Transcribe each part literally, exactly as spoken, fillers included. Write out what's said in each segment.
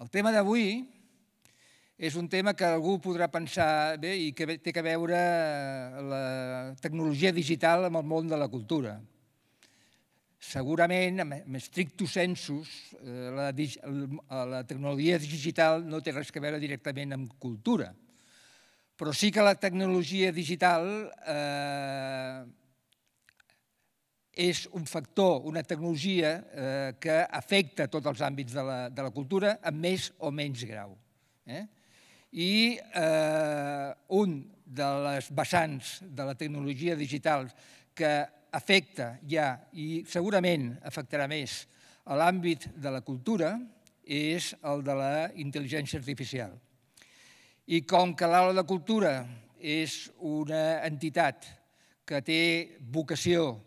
El tema d'avui és un tema que algú podrà pensar bé i que té a veure la tecnologia digital amb el món de la cultura. Segurament, en strictus sensus, la tecnologia digital no té res a veure directament amb cultura, però sí que la tecnologia digital és un factor, una tecnologia que afecta tots els àmbits de la cultura amb més o menys grau. I un de les vessants de la tecnologia digital que afecta ja i segurament afectarà més a l'àmbit de la cultura és el de la intel·ligència artificial. I com que l'aula de cultura és una entitat que té vocació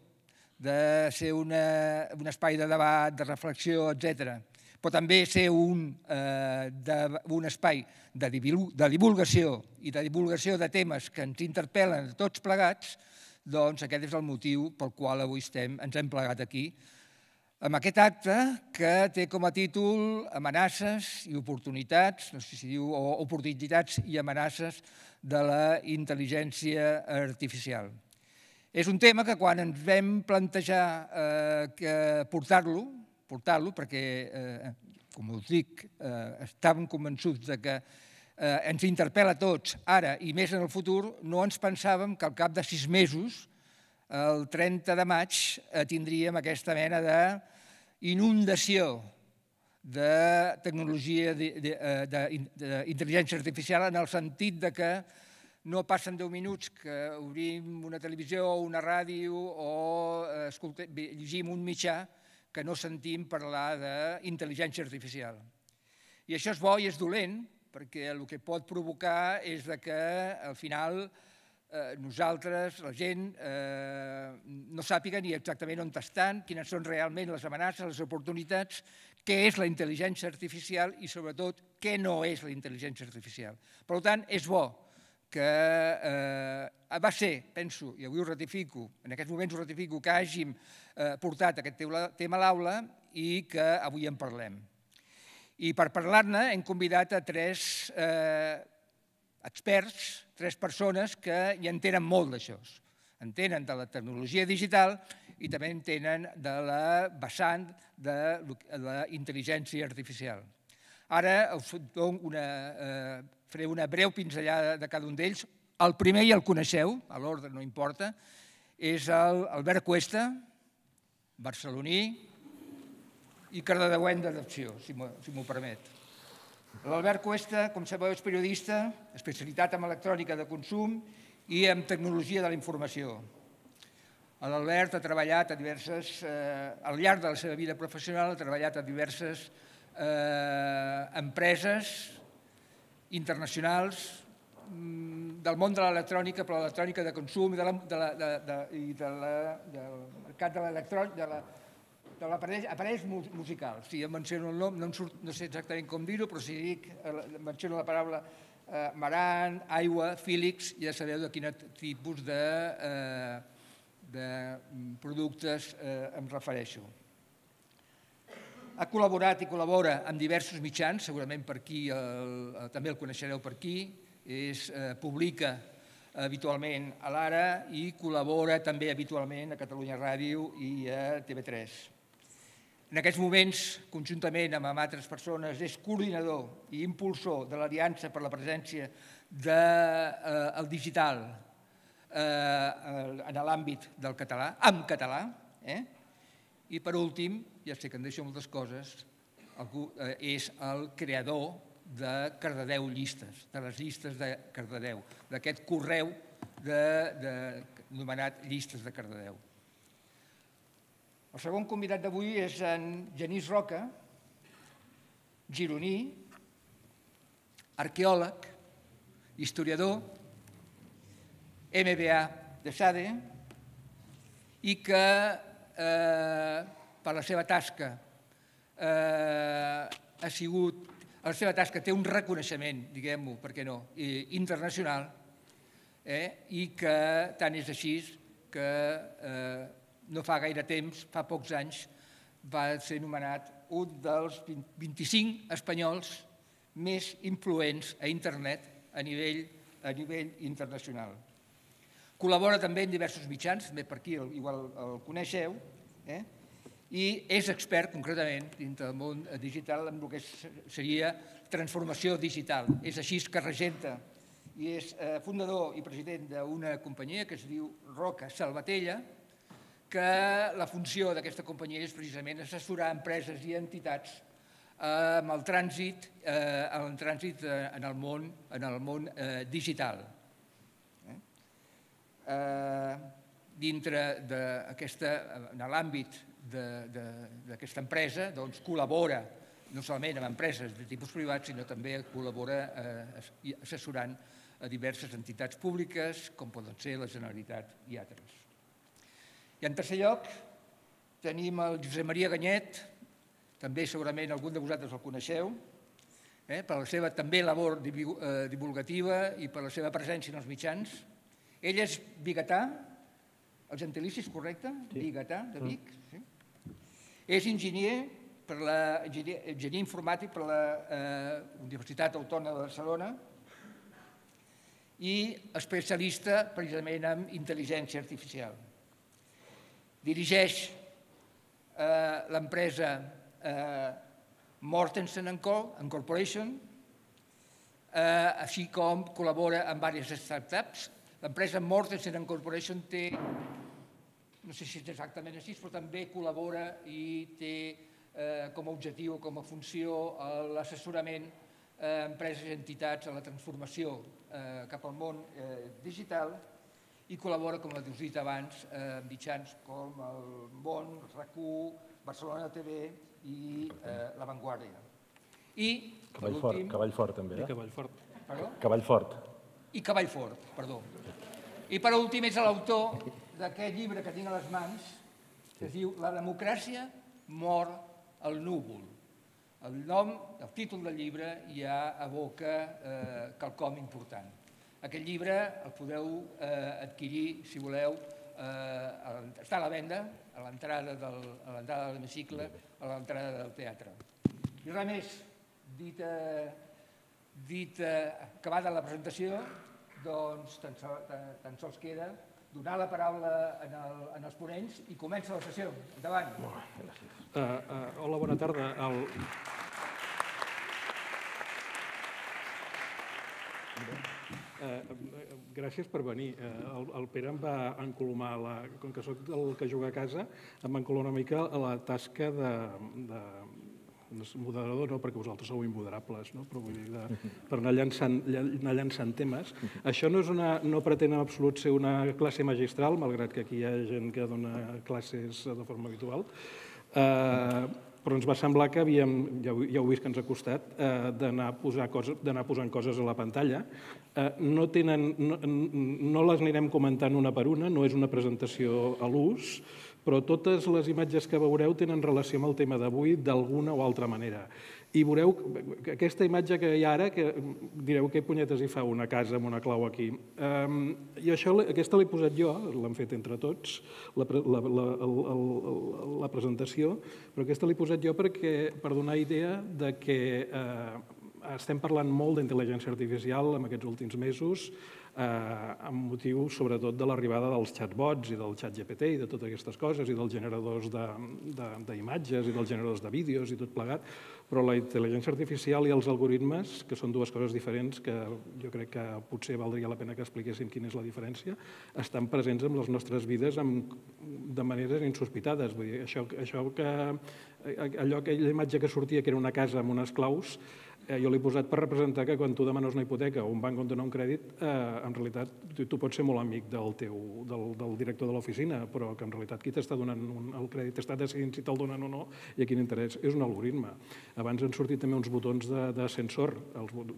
de ser un espai de debat, de reflexió, etcètera, però també ser un espai de divulgació i de divulgació de temes que ens interpel·len a tots plegats, doncs aquest és el motiu pel qual avui ens hem plegat aquí, amb aquest acte que té com a títol Amenaces i oportunitats, no sé si diu, o oportunitats i amenaces de la intel·ligència artificial. És un tema que quan ens vam plantejar portar-lo, portar-lo perquè, com us dic, estàvem convençuts que ens interpel·la a tots ara i més en el futur, no ens pensàvem que al cap de sis mesos, el trenta de maig, tindríem aquesta mena d'inundació de tecnologia d'intel·ligència artificial en el sentit que no passen deu minuts que obrim una televisió o una ràdio o llegim un mitjà que no sentim parlar d'intel·ligència artificial. I això és bo i és dolent, perquè el que pot provocar és que al final nosaltres, la gent, no sàpiga ni exactament on estan, quines són realment les amenaces, les oportunitats, què és la intel·ligència artificial i sobretot què no és la intel·ligència artificial. Per tant, és bo que va ser, penso, i avui ho ratifico, en aquests moments ho ratifico, que hàgim portat aquest tema a l'aula i que avui en parlem. I per parlar-ne hem convidat a tres experts, tres persones que hi entenen molt d'això. Entenen de la tecnologia digital i també entenen de la vessant de la intel·ligència artificial. Ara us faré una breu pinzellada de cada un d'ells. El primer ja el coneixeu, a l'ordre no importa, és l'Albert Cuesta, barceloní i cardedeuenc d'adopció, si m'ho permet. L'Albert Cuesta, com sabeu, és periodista, especialitat en electrònica de consum i en tecnologia de la informació. L'Albert ha treballat a diverses, al llarg de la seva vida professional, ha treballat a diverses empreses internacionals del món de l'electrònica, però l'electrònica de consum i del mercat de l'aparells musicals. Si em menciono el nom, no sé exactament com dir-ho, però si dic, menciono la paraula Marant, Aigua, Philips, ja sabeu de quin tipus de productes em refereixo. Ha col·laborat i col·labora amb diversos mitjans, segurament per aquí, també el coneixereu per aquí, publica habitualment a l'Ara i col·labora també habitualment a Catalunya Ràdio i a T V tres. En aquests moments, conjuntament amb altres persones, és coordinador i impulsor de l'Aliança per la Presència del Digital en l'àmbit del català, en català, i per últim, ja sé que em deixo moltes coses, és el creador de Cardedeu Llistes, de les llistes de Cardedeu, d'aquest correu anomenat Llistes de Cardedeu. El segon convidat d'avui és en Genís Roca, gironí, arqueòleg, historiador, M B A de SADE, i que per la seva tasca ha sigut, la seva tasca té un reconeixement, diguem-ho, per què no, internacional, i que tant és així que no fa gaire temps, fa pocs anys, va ser nomenat un dels vint-i-cinc espanyols més influents a internet a nivell, a nivell internacional. Col·labora també en diversos mitjans, també per aquí igual el coneixeu, eh? I és expert concretament dintre del món digital en el que seria transformació digital. És així que regenta i és fundador i president d'una companyia que es diu Roca Salvatella, que la funció d'aquesta companyia és precisament assessorar empreses i entitats amb el trànsit, el trànsit en el món, en el món digital. Dintre d'aquesta, en l'àmbit d'aquesta empresa, doncs col·labora no solament amb empreses de tipus privat, sinó també col·labora assessorant a diverses entitats públiques, com poden ser la Generalitat i altres. I en tercer lloc tenim el Josep Maria Ganyet, també segurament algun de vosaltres el coneixeu, per la seva també labor divulgativa i per la seva presència en els mitjans. Ell és biguetà, el gentilici és correcte? Biguetà, de Vic. És enginyer enginyer informàtic per la Universitat Autònoma de Barcelona i especialista precisament en intel·ligència artificial. Dirigeix l'empresa Mortensen and Co. Corporation, així com col·labora amb diverses startups. L'empresa Mortensen and Corporation té, no sé si és exactament així, però també col·labora i té com a objectiu, com a funció, l'assessorament a empreses i entitats a la transformació cap al món digital i col·labora, com heu dit abans, amb mitjans com el Món, RAC u, Barcelona T V i La Vanguardia. I, per últim... Cavall fort, també, eh? Cavall fort. Perdó? Cavall fort. I Cavall fort, perdó. I per últim és l'autor d'aquest llibre que tinc a les mans, que es diu La democràcia mor al núvol. El nom, el títol del llibre ja evoca quelcom important. Aquest llibre el podeu adquirir, si voleu, està a la venda, a l'entrada de l'hemicicle, a l'entrada del teatre. I res més, dit acabada la presentació, doncs tan sols queda donar la paraula als ponents i comença la sessió. Endavant. Hola, bona tarda. Gràcies per venir. El Pere em va encolomar, com que soc el que juga a casa, em va encolomar una mica a la tasca de moderador, no, perquè vosaltres sou immoderables, però vull dir, per anar llançant temes. Això no pretén en absolut ser una classe magistral, malgrat que aquí hi ha gent que dona classes de forma habitual, però ens va semblar que havíem, ja heu vist que ens ha costat, d'anar posant coses a la pantalla. No les anirem comentant una per una, no és una presentació a l'ús, però totes les imatges que veureu tenen relació amb el tema d'avui d'alguna o altra manera. I veureu aquesta imatge que hi ha ara, que direu què punyetes hi fa una casa amb una clau aquí. I aquesta l'he posat jo, l'hem fet entre tots, la presentació, però aquesta l'he posat jo per donar idea que estem parlant molt d'intel·ligència artificial en aquests últims mesos, amb motiu sobretot de l'arribada dels chatbots i del xat G P T i de totes aquestes coses i dels generadors d'imatges i dels generadors de vídeos i tot plegat, però la intel·ligència artificial i els algoritmes, que són dues coses diferents que jo crec que potser valdria la pena que expliquéssim quina és la diferència, estan presents en les nostres vides de maneres insospitades. Vull dir, això que allò, aquella imatge que sortia que era una casa amb unes claus, jo l'he posat per representar que quan tu demanes una hipoteca o un banc on donar un crèdit, en realitat tu pots ser molt amic del director de l'oficina, però que en realitat qui t'està donant el crèdit està decidint si te'l donen o no i a quin interès. És un algoritme. Abans han sortit també uns botons d'ascensor.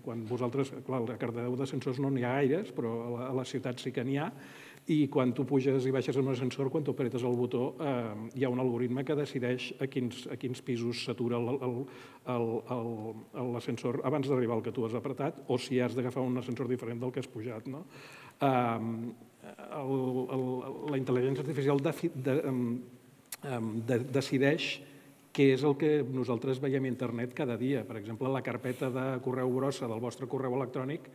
Quan vosaltres, clar, a Cardedeu d'ascensors no n'hi ha gaires, però a la ciutat sí que n'hi ha, i quan tu puges i baixes en un ascensor, quan tu apretes el botó, hi ha un algoritme que decideix a quins pisos s'atura l'ascensor abans d'arribar al que tu has apretat o si has d'agafar un ascensor diferent del que has pujat. La intel·ligència artificial decideix que és el que nosaltres veiem a internet cada dia. Per exemple, la carpeta de correu brossa del vostre correu electrònic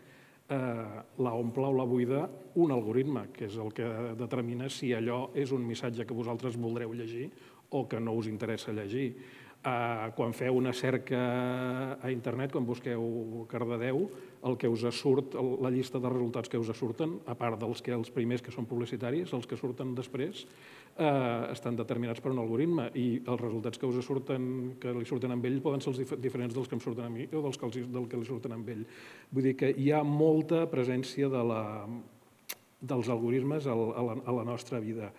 la omple o la buida un algoritme, que és el que determina si allò és un missatge que vosaltres voldreu llegir o que no us interessa llegir. Quan feu una cerca a internet, quan busqueu Cardedeu, el que us surt, la llista de resultats que us surten, a part dels que els primers que són publicitaris, els que surten després, estan determinats per un algoritme i els resultats que us surten, que li surten amb ell, poden ser els diferents dels que em surten a mi o dels que li surten amb ell. Vull dir que hi ha molta presència dels algoritmes a la nostra vida.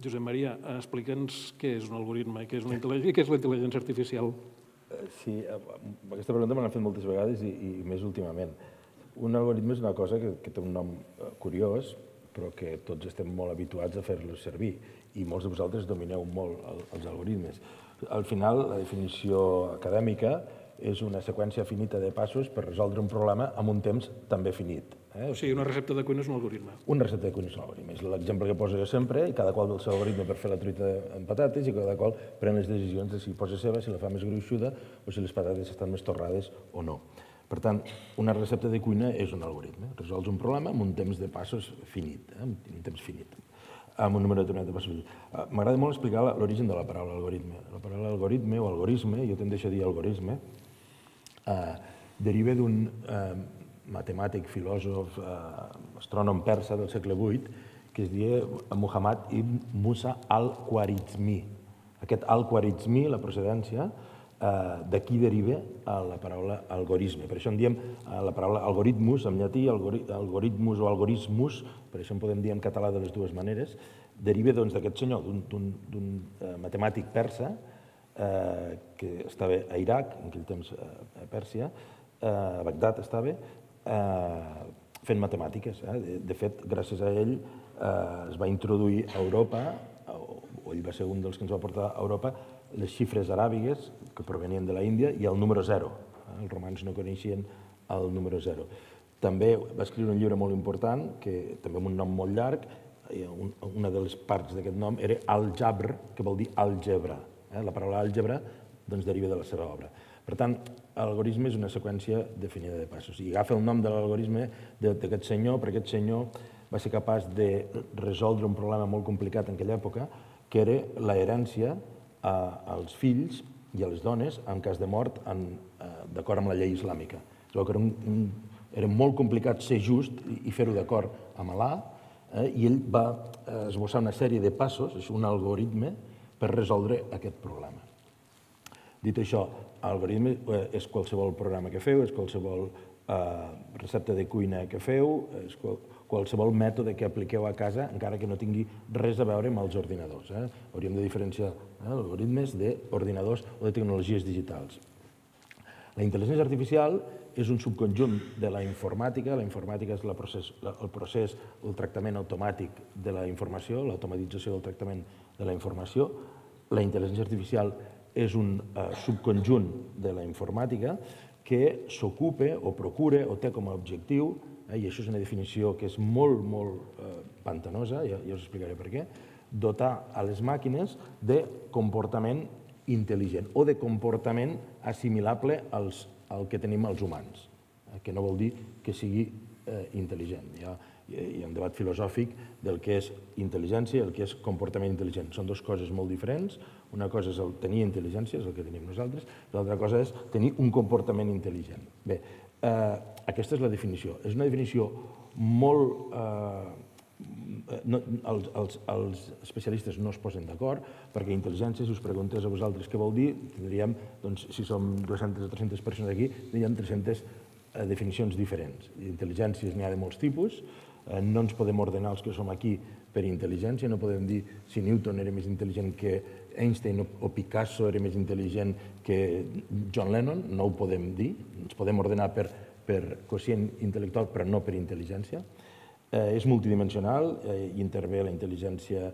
Josep Maria, explica'ns què és un algoritme i què és la intel·ligència artificial. Sí, aquesta pregunta me l'han fet moltes vegades i més últimament. Un algoritme és una cosa que té un nom curiós, però que tots estem molt habituats a fer-los servir i molts de vosaltres domineu molt els algoritmes. Al final, la definició acadèmica és una seqüència finita de passos per resoldre un problema en un temps també finit. O sigui, una recepta de cuina és un algoritme. Una recepta de cuina és un algoritme. És l'exemple que poso jo sempre, i cada qual del seu algoritme per fer la truita amb patates i cada qual pren les decisions de si posa ceba, si la fa més gruixuda o si les patates estan més torrades o no. Per tant, una recepta de cuina és un algoritme. Resols un problema amb un temps de passos finit, un temps finit, amb un número determinat de passos. M'agrada molt explicar l'origen de la paraula algoritme. La paraula algoritme o algorisme, jo tendeixo a dir algorisme, deriva d'un matemàtic, filòsof, astrònom persa del segle vuit, que es deia Muhammad ibn Musa al-Khwarizmi. Aquest al-Khwarizmi, la procedència, d'aquí deriva la paraula algorisme. Per això en diem la paraula algoritmus, en llatí, algoritmus o algorismus, per això en podem dir en català de les dues maneres, deriva d'aquest senyor, d'un matemàtic persa, que estava a Iraq, en aquell temps a Pèrsia, a Bagdad estava, fent matemàtiques. De fet, gràcies a ell es va introduir a Europa, o ell va ser un dels que ens va portar a Europa, les xifres aràbigues que provenien de l'Índia i el número zero. Els romans no coneixien el número zero. També va escriure un llibre molt important, que també amb un nom molt llarg, una de les parts d'aquest nom era Al-Jabr, que vol dir àlgebra. La paraula àlgebra deriva de la seva obra. Per tant, l'algorisme és una seqüència definida de passos. I agafa el nom de l'algorisme d'aquest senyor, perquè aquest senyor va ser capaç de resoldre un problema molt complicat en aquella època, que era l'herència als fills i a les dones en cas de mort d'acord amb la llei islàmica. Es veu que era molt complicat ser just i fer-ho d'acord amb Allà, i ell va esbossar una sèrie de passos, és un algoritme, per resoldre aquest problema. Dit això, l'algoritme és qualsevol programa que feu, és qualsevol recepta de cuina que feu, és qualsevol mètode que apliqueu a casa, encara que no tingui res a veure amb els ordinadors. Hauríem de diferenciar algoritmes d'ordinadors o de tecnologies digitals. La intel·ligència artificial és un subconjunt de la informàtica. La informàtica és el procés, el tractament automàtic de la informació, l'automatització del tractament de la informació. La intel·ligència artificial és un subconjunt de la informàtica que s'ocupa o procura o té com a objectiu, i això és una definició que és molt, molt pantanosa, ja us explicaré per què, dotar a les màquines de comportament intel·ligent o de comportament assimilable al que tenim els humans, que no vol dir que sigui intel·ligent. Hi ha un debat filosòfic del que és intel·ligència i el que és comportament intel·ligent. Són dues coses molt diferents. Una cosa és el tenir intel·ligència, és el que tenim nosaltres, i l'altra cosa és tenir un comportament intel·ligent. Bé, aquesta és la definició. És una definició molt... Els especialistes no es posen d'acord, perquè intel·ligència, si us preguntés a vosaltres què vol dir, tindríem, si som dues-centes o tres-centes persones aquí, tindríem tres-centes definicions diferents. Intel·ligències n'hi ha de molts tipus, no ens podem ordenar els que som aquí per intel·ligència, no podem dir si Newton era més intel·ligent que Einstein o Picasso era més intel·ligent que John Lennon, no ho podem dir, ens podem ordenar per quocient intel·lectual però no per intel·ligència. És multidimensional i intervé la intel·ligència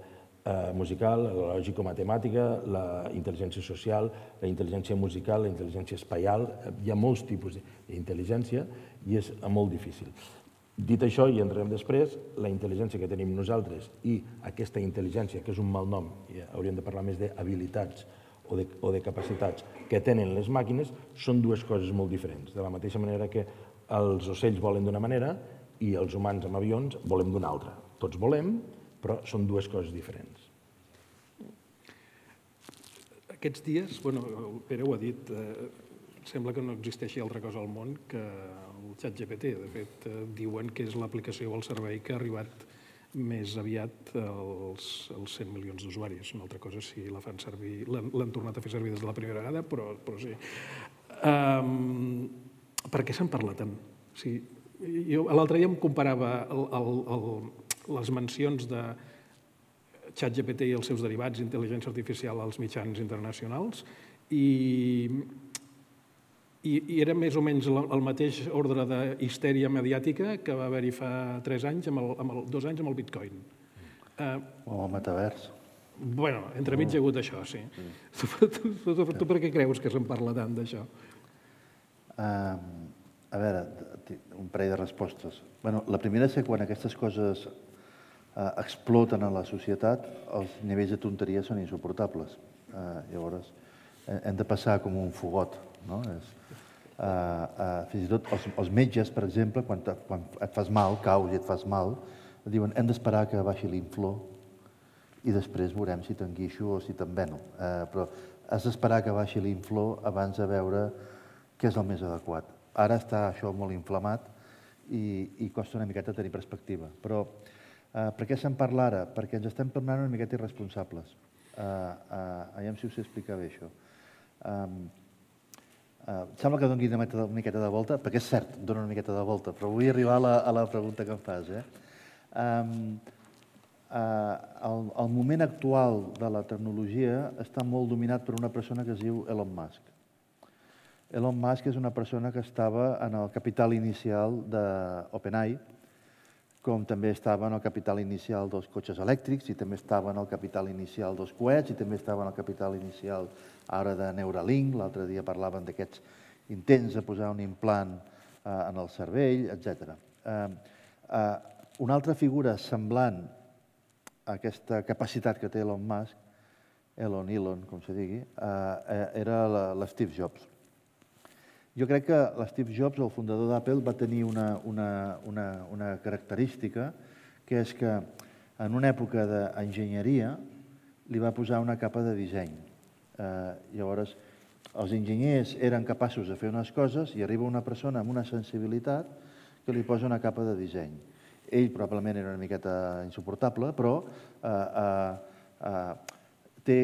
musical, la lògico-matemàtica, la intel·ligència social, la intel·ligència musical, la intel·ligència espaial. Hi ha molts tipus d'intel·ligència i és molt difícil. Dit això, i entrarem després, la intel·ligència que tenim nosaltres i aquesta intel·ligència, que és un mal nom, i hauríem de parlar més d'habilitats o de, o de capacitats que tenen les màquines, són dues coses molt diferents. De la mateixa manera que els ocells volen d'una manera i els humans amb avions volem d'una altra. Tots volem, però són dues coses diferents. Aquests dies, bueno, el Pere ho ha dit, eh, sembla que no existeixi altra cosa al món que el ChatGPT. De fet, eh, diuen que és l'aplicació o el servei que ha arribat més aviat als, als cent milions d'usuaris. Una altra cosa si la fan servir, l'han tornat a fer servir des de la primera vegada, però, però sí. Um, per què se'n parla tant? O sigui, jo l'altre dia em comparava el, el, el, les mencions de ChatGPT i els seus derivats d'intel·ligència artificial als mitjans internacionals i, i, i era més o menys el, el mateix ordre de histèria mediàtica que va haver-hi fa tres anys, amb el, amb el, dos anys amb el Bitcoin. Uh, o el metavers. Bueno, entremig hi ha hagut això, sí. Mm. Tu, tu, tu, tu, tu per què creus que se'n parla tant d'això? Uh, a veure, un parell de respostes. Bueno, la primera és que quan aquestes coses Uh, exploten a la societat, els nivells de tonteria són insuportables. Uh, llavors, hem de passar com un fogot. No? És, uh, uh, fins i tot els, els metges, per exemple, quan, te, quan et fas mal, caus i et fas mal, et diuen hem d'esperar que baixi l'inflor i després veurem si t'enguixo o si t'enveno. Uh, però has d'esperar que baixi l'inflor abans de veure què és el més adequat. Ara està això molt inflamat i, i costa una miqueta tenir perspectiva. Però Uh, per què se'n parla ara? Perquè ens estem tornant una miqueta irresponsables. Uh, uh, aviam si us sé explicar bé això. Um, uh, sembla que doni una miqueta de volta, perquè és cert, dona una miqueta de volta, però vull arribar a la, a la pregunta que em fas. Eh? Um, uh, el, el moment actual de la tecnologia està molt dominat per una persona que es diu Elon Musk. Elon Musk és una persona que estava en el capital inicial d'OpenAI, com també estava en el capital inicial dels cotxes elèctrics, i també estava en el capital inicial dels coets, i també estava en el capital inicial ara de Neuralink. L'altre dia parlaven d'aquests intents de posar un implant eh, en el cervell, etcètera. Eh, eh, una altra figura semblant a aquesta capacitat que té Elon Musk, Elon, Elon, com se digui, eh, era l'Steve Jobs. Jo crec que l'Steve Jobs, el fundador d'Apple, va tenir una, una, una, una característica, que és que en una època d'enginyeria li va posar una capa de disseny. Eh, llavors, els enginyers eren capaços de fer unes coses i arriba una persona amb una sensibilitat que li posa una capa de disseny. Ell probablement era una miqueta insuportable, però eh, eh, eh, té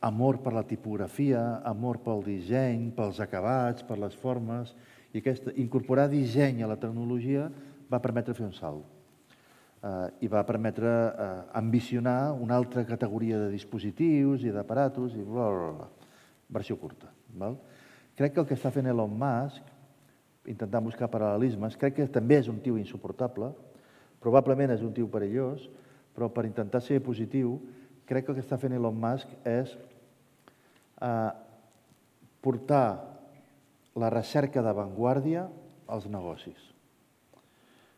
amor per la tipografia, amor pel disseny, pels acabats, per les formes, i aquesta, incorporar disseny a la tecnologia va permetre fer un salt. Uh, I va permetre uh, ambicionar una altra categoria de dispositius i d'aparatos, i bla, bla, bla. Versió curta. Val? Crec que el que està fent Elon Musk, intentant buscar paral·lelismes, crec que també és un tio insuportable, probablement és un tio perillós, però per intentar ser positiu, crec que el que està fent Elon Musk és Uh, portar la recerca d'avantguàrdia als negocis.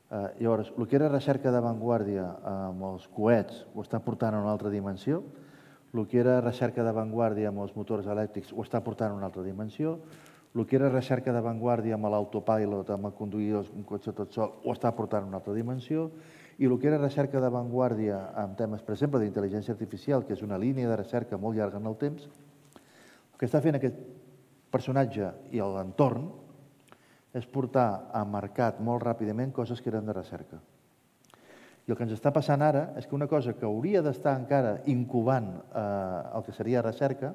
Uh, llavors, el que era recerca d'avantguàrdia amb els coets ho està portant a una altra dimensió, el que era recerca d'avantguàrdia amb els motors elèctrics ho està portant a una altra dimensió, el que era recerca d'avantguàrdia amb l'autopilot, amb el conduir un cotxe tot sol, ho està portant a una altra dimensió, i el que era recerca d'avantguàrdia amb temes, per exemple, d'intel·ligència artificial, que és una línia de recerca molt llarga en el temps, el que està fent aquest personatge i l'entorn és portar a mercat molt ràpidament coses que eren de recerca. I el que ens està passant ara és que una cosa que hauria d'estar encara incubant eh, el que seria recerca,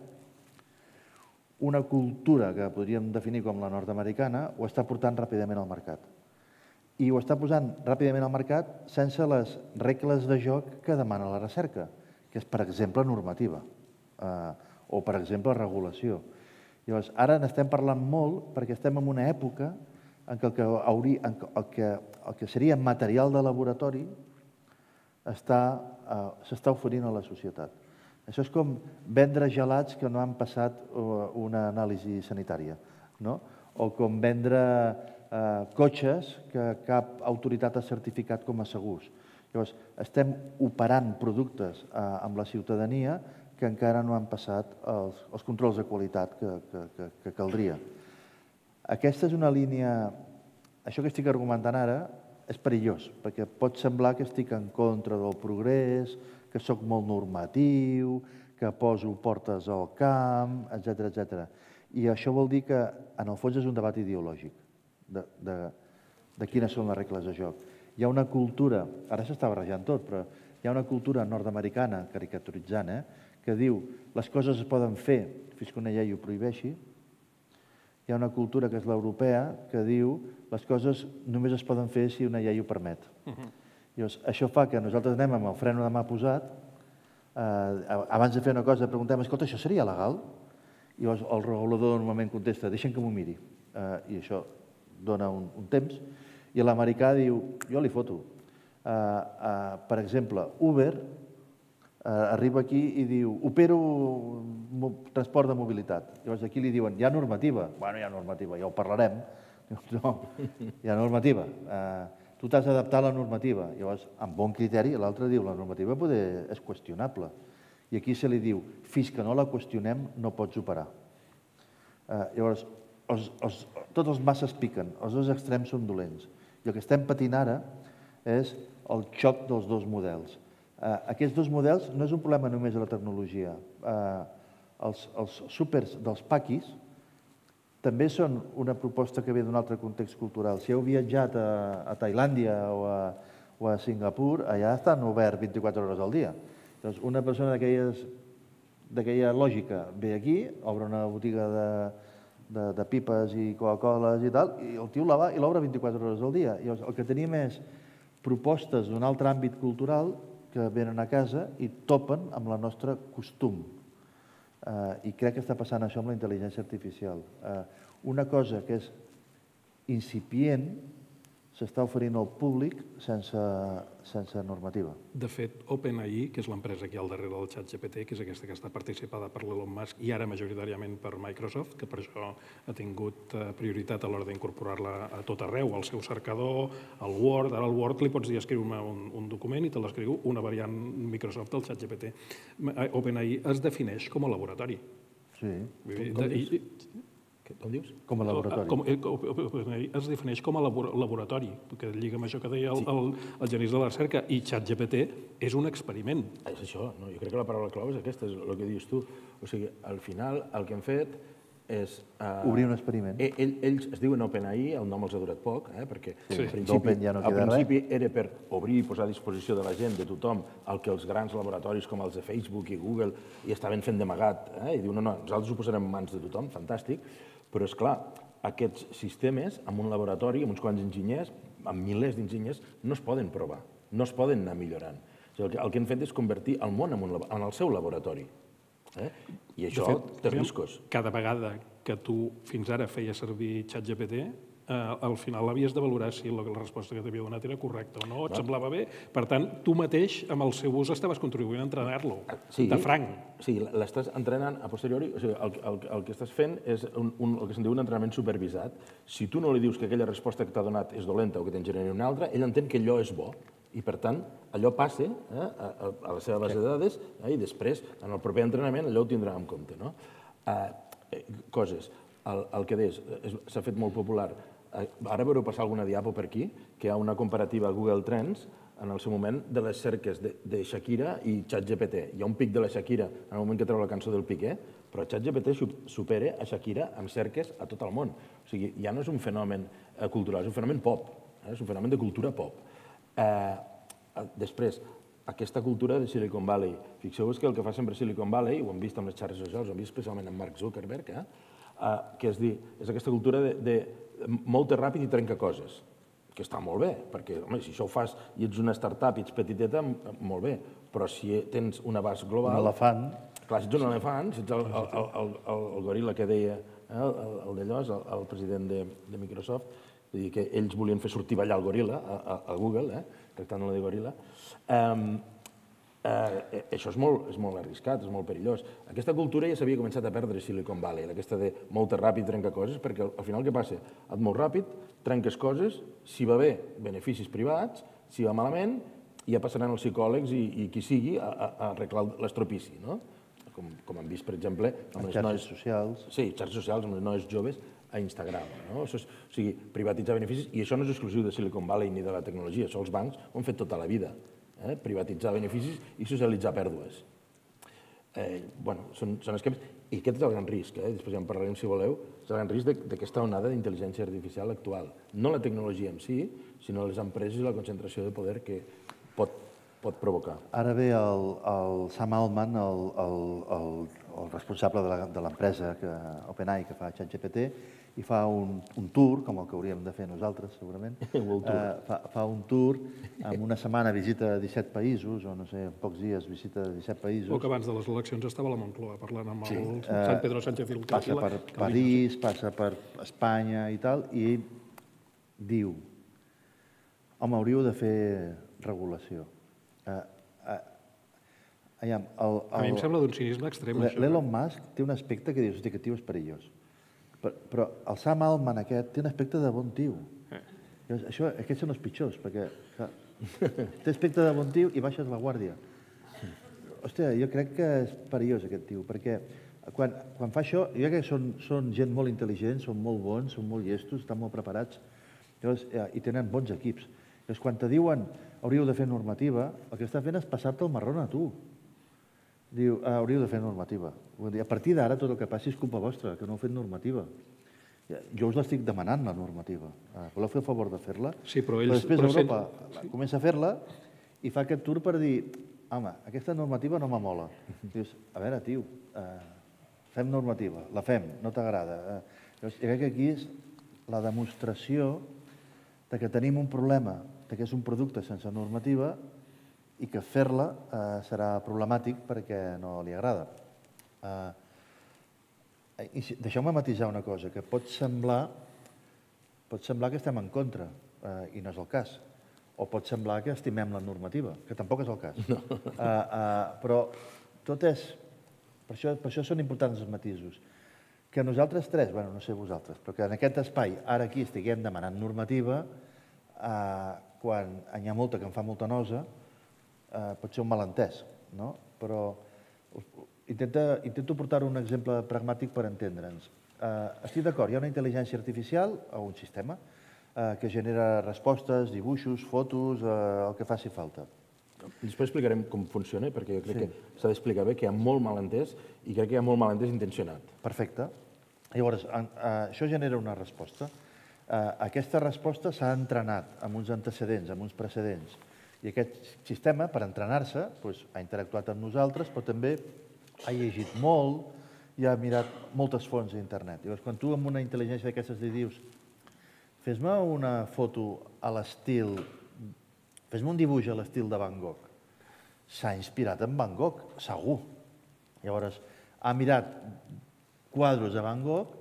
una cultura que podríem definir com la nord-americana, ho està portant ràpidament al mercat. I ho està posant ràpidament al mercat sense les regles de joc que demana la recerca, que és, per exemple, normativa. Eh, o, per exemple, regulació. Llavors, ara n'estem parlant molt perquè estem en una època en què el que, hauria, en el que, el que seria material de laboratori s'està oferint a la societat. Això és com vendre gelats que no han passat una anàlisi sanitària, no? o com vendre cotxes que cap autoritat ha certificat com a segurs. Llavors, estem operant productes amb la ciutadania que encara no han passat els controls de qualitat que caldria. Aquesta és una línia... Això que estic argumentant ara és perillós, perquè pot semblar que estic en contra del progrés, que sóc molt normatiu, que poso portes al camp, etcètera, etcètera. I això vol dir que, en el fons, és un debat ideològic de quines són les regles de joc. Hi ha una cultura, ara s'està barrejant tot, però hi ha una cultura nord-americana, caricaturitzant, que diu les coses es poden fer fins que una llei ho prohibeixi. Hi ha una cultura que és l'europea que diu les coses només es poden fer si una llei ho permet. Això fa que nosaltres anem amb el freno de mà posat, abans de fer una cosa preguntem, escolta, això seria legal? I llavors el regulador normalment contesta, deixa'm que m'ho miri. I això dona un temps. I l'americà diu, jo li foto. Per exemple, Uber arriba aquí i diu, opero transport de mobilitat. Llavors aquí li diuen, hi ha normativa. Bueno, hi ha normativa, ja ho parlarem. No, hi ha normativa. Tu t'has d'adaptar a la normativa. Llavors, amb bon criteri, l'altre diu, la normativa és qüestionable. I aquí se li diu, fins que no la qüestionem no pots operar. Llavors, tots els masses piquen, els dos extrems són dolents. I el que estem patint ara és el xoc dels dos models. Aquests dos models no és un problema només de la tecnologia. Els súpers dels paquis també són una proposta que ve d'un altre context cultural. Si heu viatjat a Tailàndia o a Singapur, allà estan oberts vint-i-quatre hores al dia. Doncs una persona d'aquella lògica ve aquí, obre una botiga de pipes i Coca-Coles i tal, i el tio la va i l'obre vint-i-quatre hores al dia. El que tenim és propostes d'un altre àmbit cultural que venen a casa i topen amb el nostre costum. I crec que està passant això amb la intel·ligència artificial. Una cosa que és incipient s'està oferint al públic sense normativa. De fet, OpenAI, que és l'empresa que hi ha al darrere del ChatGPT, que és aquesta que està participada per l'Elon Musk i ara majoritàriament per Microsoft, que per això ha tingut prioritat a l'hora d'incorporar-la a tot arreu, al seu cercador, al Word. Ara al Word li pots dir escriu-me un document i te l'escriu una variant Microsoft del ChatGPT. OpenAI es defineix com a laboratori. Sí. Com dius? Com a laboratori. Es defineix com a laboratori, que lliga amb això que deia el Genís de la recerca, i ChatGPT és un experiment. És això, jo crec que la paraula clau és aquesta, és el que dius tu. O sigui, al final el que hem fet és... Obrir un experiment. Ells es diuen OpenAI, el nom els ha durat poc, perquè al principi era per obrir i posar a disposició de la gent, de tothom, el que els grans laboratoris com els de Facebook i Google hi estaven fent d'amagat. I diuen, no, no, nosaltres ho posarem en mans de tothom, fantàstic. Però, esclar, aquests sistemes, en un laboratori, amb uns quants enginyers, amb milers d'enginyers, no es poden provar, no es poden anar millorant. El que hem fet és convertir el món en el seu laboratori. I això té riscos. Cada vegada que tu fins ara feies servir ChatGPT, al final havies de valorar si la resposta que t'havia donat era correcta o no, et semblava bé. Per tant, tu mateix, amb el seu ús, estaves contribuint a entrenar-lo, de franc. Sí, l'estàs entrenant a posteriori. El que estàs fent és el que se'n diu un entrenament supervisat. Si tu no li dius que aquella resposta que t'ha donat és dolenta o que te'n generi una altra, ell entén que allò és bo. I, per tant, allò passa a la seva base de dades i després, en el proper entrenament, allò ho tindrà en compte. Coses. El que deies, s'ha fet molt popular. Ara veureu passar alguna diapo per aquí, que hi ha una comparativa Google Trends en el seu moment de les cerques de Shakira i ChatGPT. Hi ha un pic de la Shakira en el moment que treu la cançó del Piqué, però ChatGPT supera a Shakira amb cerques a tot el món. O sigui, ja no és un fenomen cultural, és un fenomen pop, és un fenomen de cultura pop. Després, aquesta cultura de Silicon Valley. Fixeu-vos que el que fa sempre Silicon Valley, ho hem vist amb les xarxes socials, ho hem vist especialment amb Mark Zuckerberg, que és dir, és aquesta cultura de molt ràpid i trenca coses, que està molt bé, perquè, home, si això ho fas i ets una startup i ets petiteta, molt bé, però si tens un abast global... Un elefant. Clar, si ets un elefant, si ets el goril·la que deia el d'allò, el president de Microsoft, vull dir que ells volien fer sortir ballar el goril·la a Google, tractant-lo de goril·la. Eh, això és molt, és molt arriscat, és molt perillós. Aquesta cultura ja s'havia començat a perdre a Silicon Valley, aquesta de molt ràpid trencar coses, perquè al final què passa? Et molt ràpid, trenques coses, si va bé, beneficis privats, si va malament, ja passaran els psicòlegs i, i qui sigui a, a, a arreglar l'estropici, no? Com, com hem vist, per exemple, amb les xarxes noies socials. Sí, xarxes socials, amb les noies joves a Instagram. No? Això és, o sigui, privatitzar beneficis, i això no és exclusiu de Silicon Valley ni de la tecnologia, això els bancs ho han fet tota la vida. Eh? Privatitzar beneficis i socialitzar pèrdues. Eh, bueno, són, són esquemes, i aquest és el gran risc, eh? Després ja en parlarem si voleu, és el gran risc d'aquesta onada d'intel·ligència artificial actual. No la tecnologia en si, sinó les empreses i la concentració de poder que pot, pot provocar. Ara ve el, el Sam Altman, el, el, el, el responsable de l'empresa OpenAI que fa ChatGPT, i fa un, un tour, com el que hauríem de fer nosaltres, segurament. Uh, fa, fa un tour, amb una setmana visita disset països, o no sé, en pocs dies visita disset països. O que abans de les eleccions estava a la Moncloa parlant amb Sí. el Sant Pedro Sánchez Filtro. Passa per París, passa per Espanya i tal, i diu, home, hauríeu de fer regulació. Uh, uh, aviam, el, el, A mi em sembla d'un cinisme extrem, això. L'Elon Musk té un aspecte que dius, hosti, aquest tio és perillós. Però, però el Sam Altman aquest té un aspecte de bon tio. Eh. Això, aquests són els pitjors, perquè clar, té aspecte de bon tio i baixes la guàrdia. Hòstia, jo crec que és perillós aquest tio, perquè quan, quan fa això, jo crec que són, són gent molt intel·ligent, són molt bons, són molt llestos, estan molt preparats, llavors, eh, i tenen bons equips. Llavors, quan te diuen hauríeu de fer normativa, el que està fent és passar-te el marrón a tu. Diu, ah, hauríeu de fer normativa. A partir d'ara tot el que passi és culpa vostra, que no heu fet normativa. Jo us l'estic demanant, la normativa. Voleu fer el favor de fer-la? Sí, però ells... Però després però Europa sent... comença a fer-la i fa aquest tour per dir, home, aquesta normativa no m'amola. Dius, a veure, tio, eh, fem normativa, la fem, no t'agrada. Eh, jo crec que aquí és la demostració de que tenim un problema, de que és un producte sense normativa i que fer-la eh, serà problemàtic perquè no li agrada. Eh, Deixeu-me matisar una cosa, que pot semblar, pot semblar que estem en contra, eh, i no és el cas. O pot semblar que estimem la normativa, que tampoc és el cas. No. Uh, uh, però tot és... Per això, per això són importants els matisos. Que nosaltres tres, bueno, no sé vosaltres, però que en aquest espai, ara aquí, estiguem demanant normativa, uh, quan n'hi ha molta que em fa molta nosa, uh, pot ser un malentès, no? Però intenta, intento portar un exemple pragmàtic per entendre'ns. Uh, estic d'acord, hi ha una intel·ligència artificial, o un sistema, uh, que genera respostes, dibuixos, fotos, uh, el que faci falta. Després explicarem com funciona, perquè jo crec Sí. que s'ha d'explicar bé, que hi ha molt malentès i crec que hi ha molt malentès intencionat. Perfecte. Llavors, en, uh, això genera una resposta. Uh, aquesta resposta s'ha entrenat amb uns antecedents, amb uns precedents. I aquest sistema, per entrenar-se, doncs, ha interactuat amb nosaltres, però també ha llegit molt i ha mirat moltes fonts a internet. Llavors, quan tu amb una intel·ligència d'aquestes li dius fes-me una foto a l'estil, fes-me un dibuix a l'estil de Van Gogh, s'ha inspirat en Van Gogh, segur. Llavors, ha mirat quadros de Van Gogh,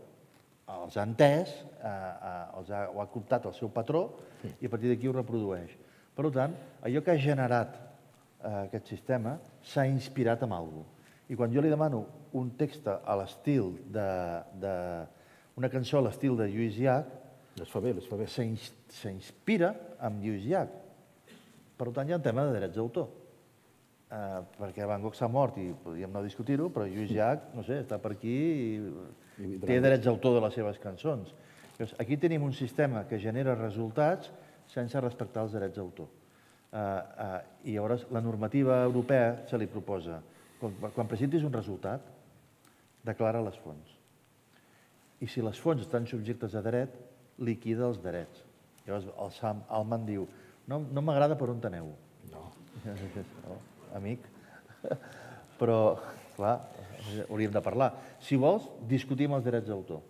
els ha entès, eh, eh, els ha, ho ha cooptat al seu patró i a partir d'aquí ho reprodueix. Per tant, allò que ha generat eh, aquest sistema s'ha inspirat en alguna cosa. I quan jo li demano un text a l'estil de, de... una cançó a l'estil de Lluís Llach, Les fa bé, les fa bé. s'inspira en Lluís Llach. Per tant, hi ha un tema de drets d'autor. Eh, perquè Van Gogh s'ha mort i podríem no discutir-ho, però Lluís Llach, no sé, està per aquí i, I té drets d'autor de les seves cançons. Llavors, aquí tenim un sistema que genera resultats sense respectar els drets d'autor. Eh, eh, I llavors la normativa europea se li proposa quan, quan presentis un resultat, declara les fonts. I si les fonts estan subjectes a dret, liquida els drets. Llavors el Sam Altman diu, no, no m'agrada per on aneu. No. No, amic. Però, clar, hauríem de parlar. Si vols, discutim els drets d'autor.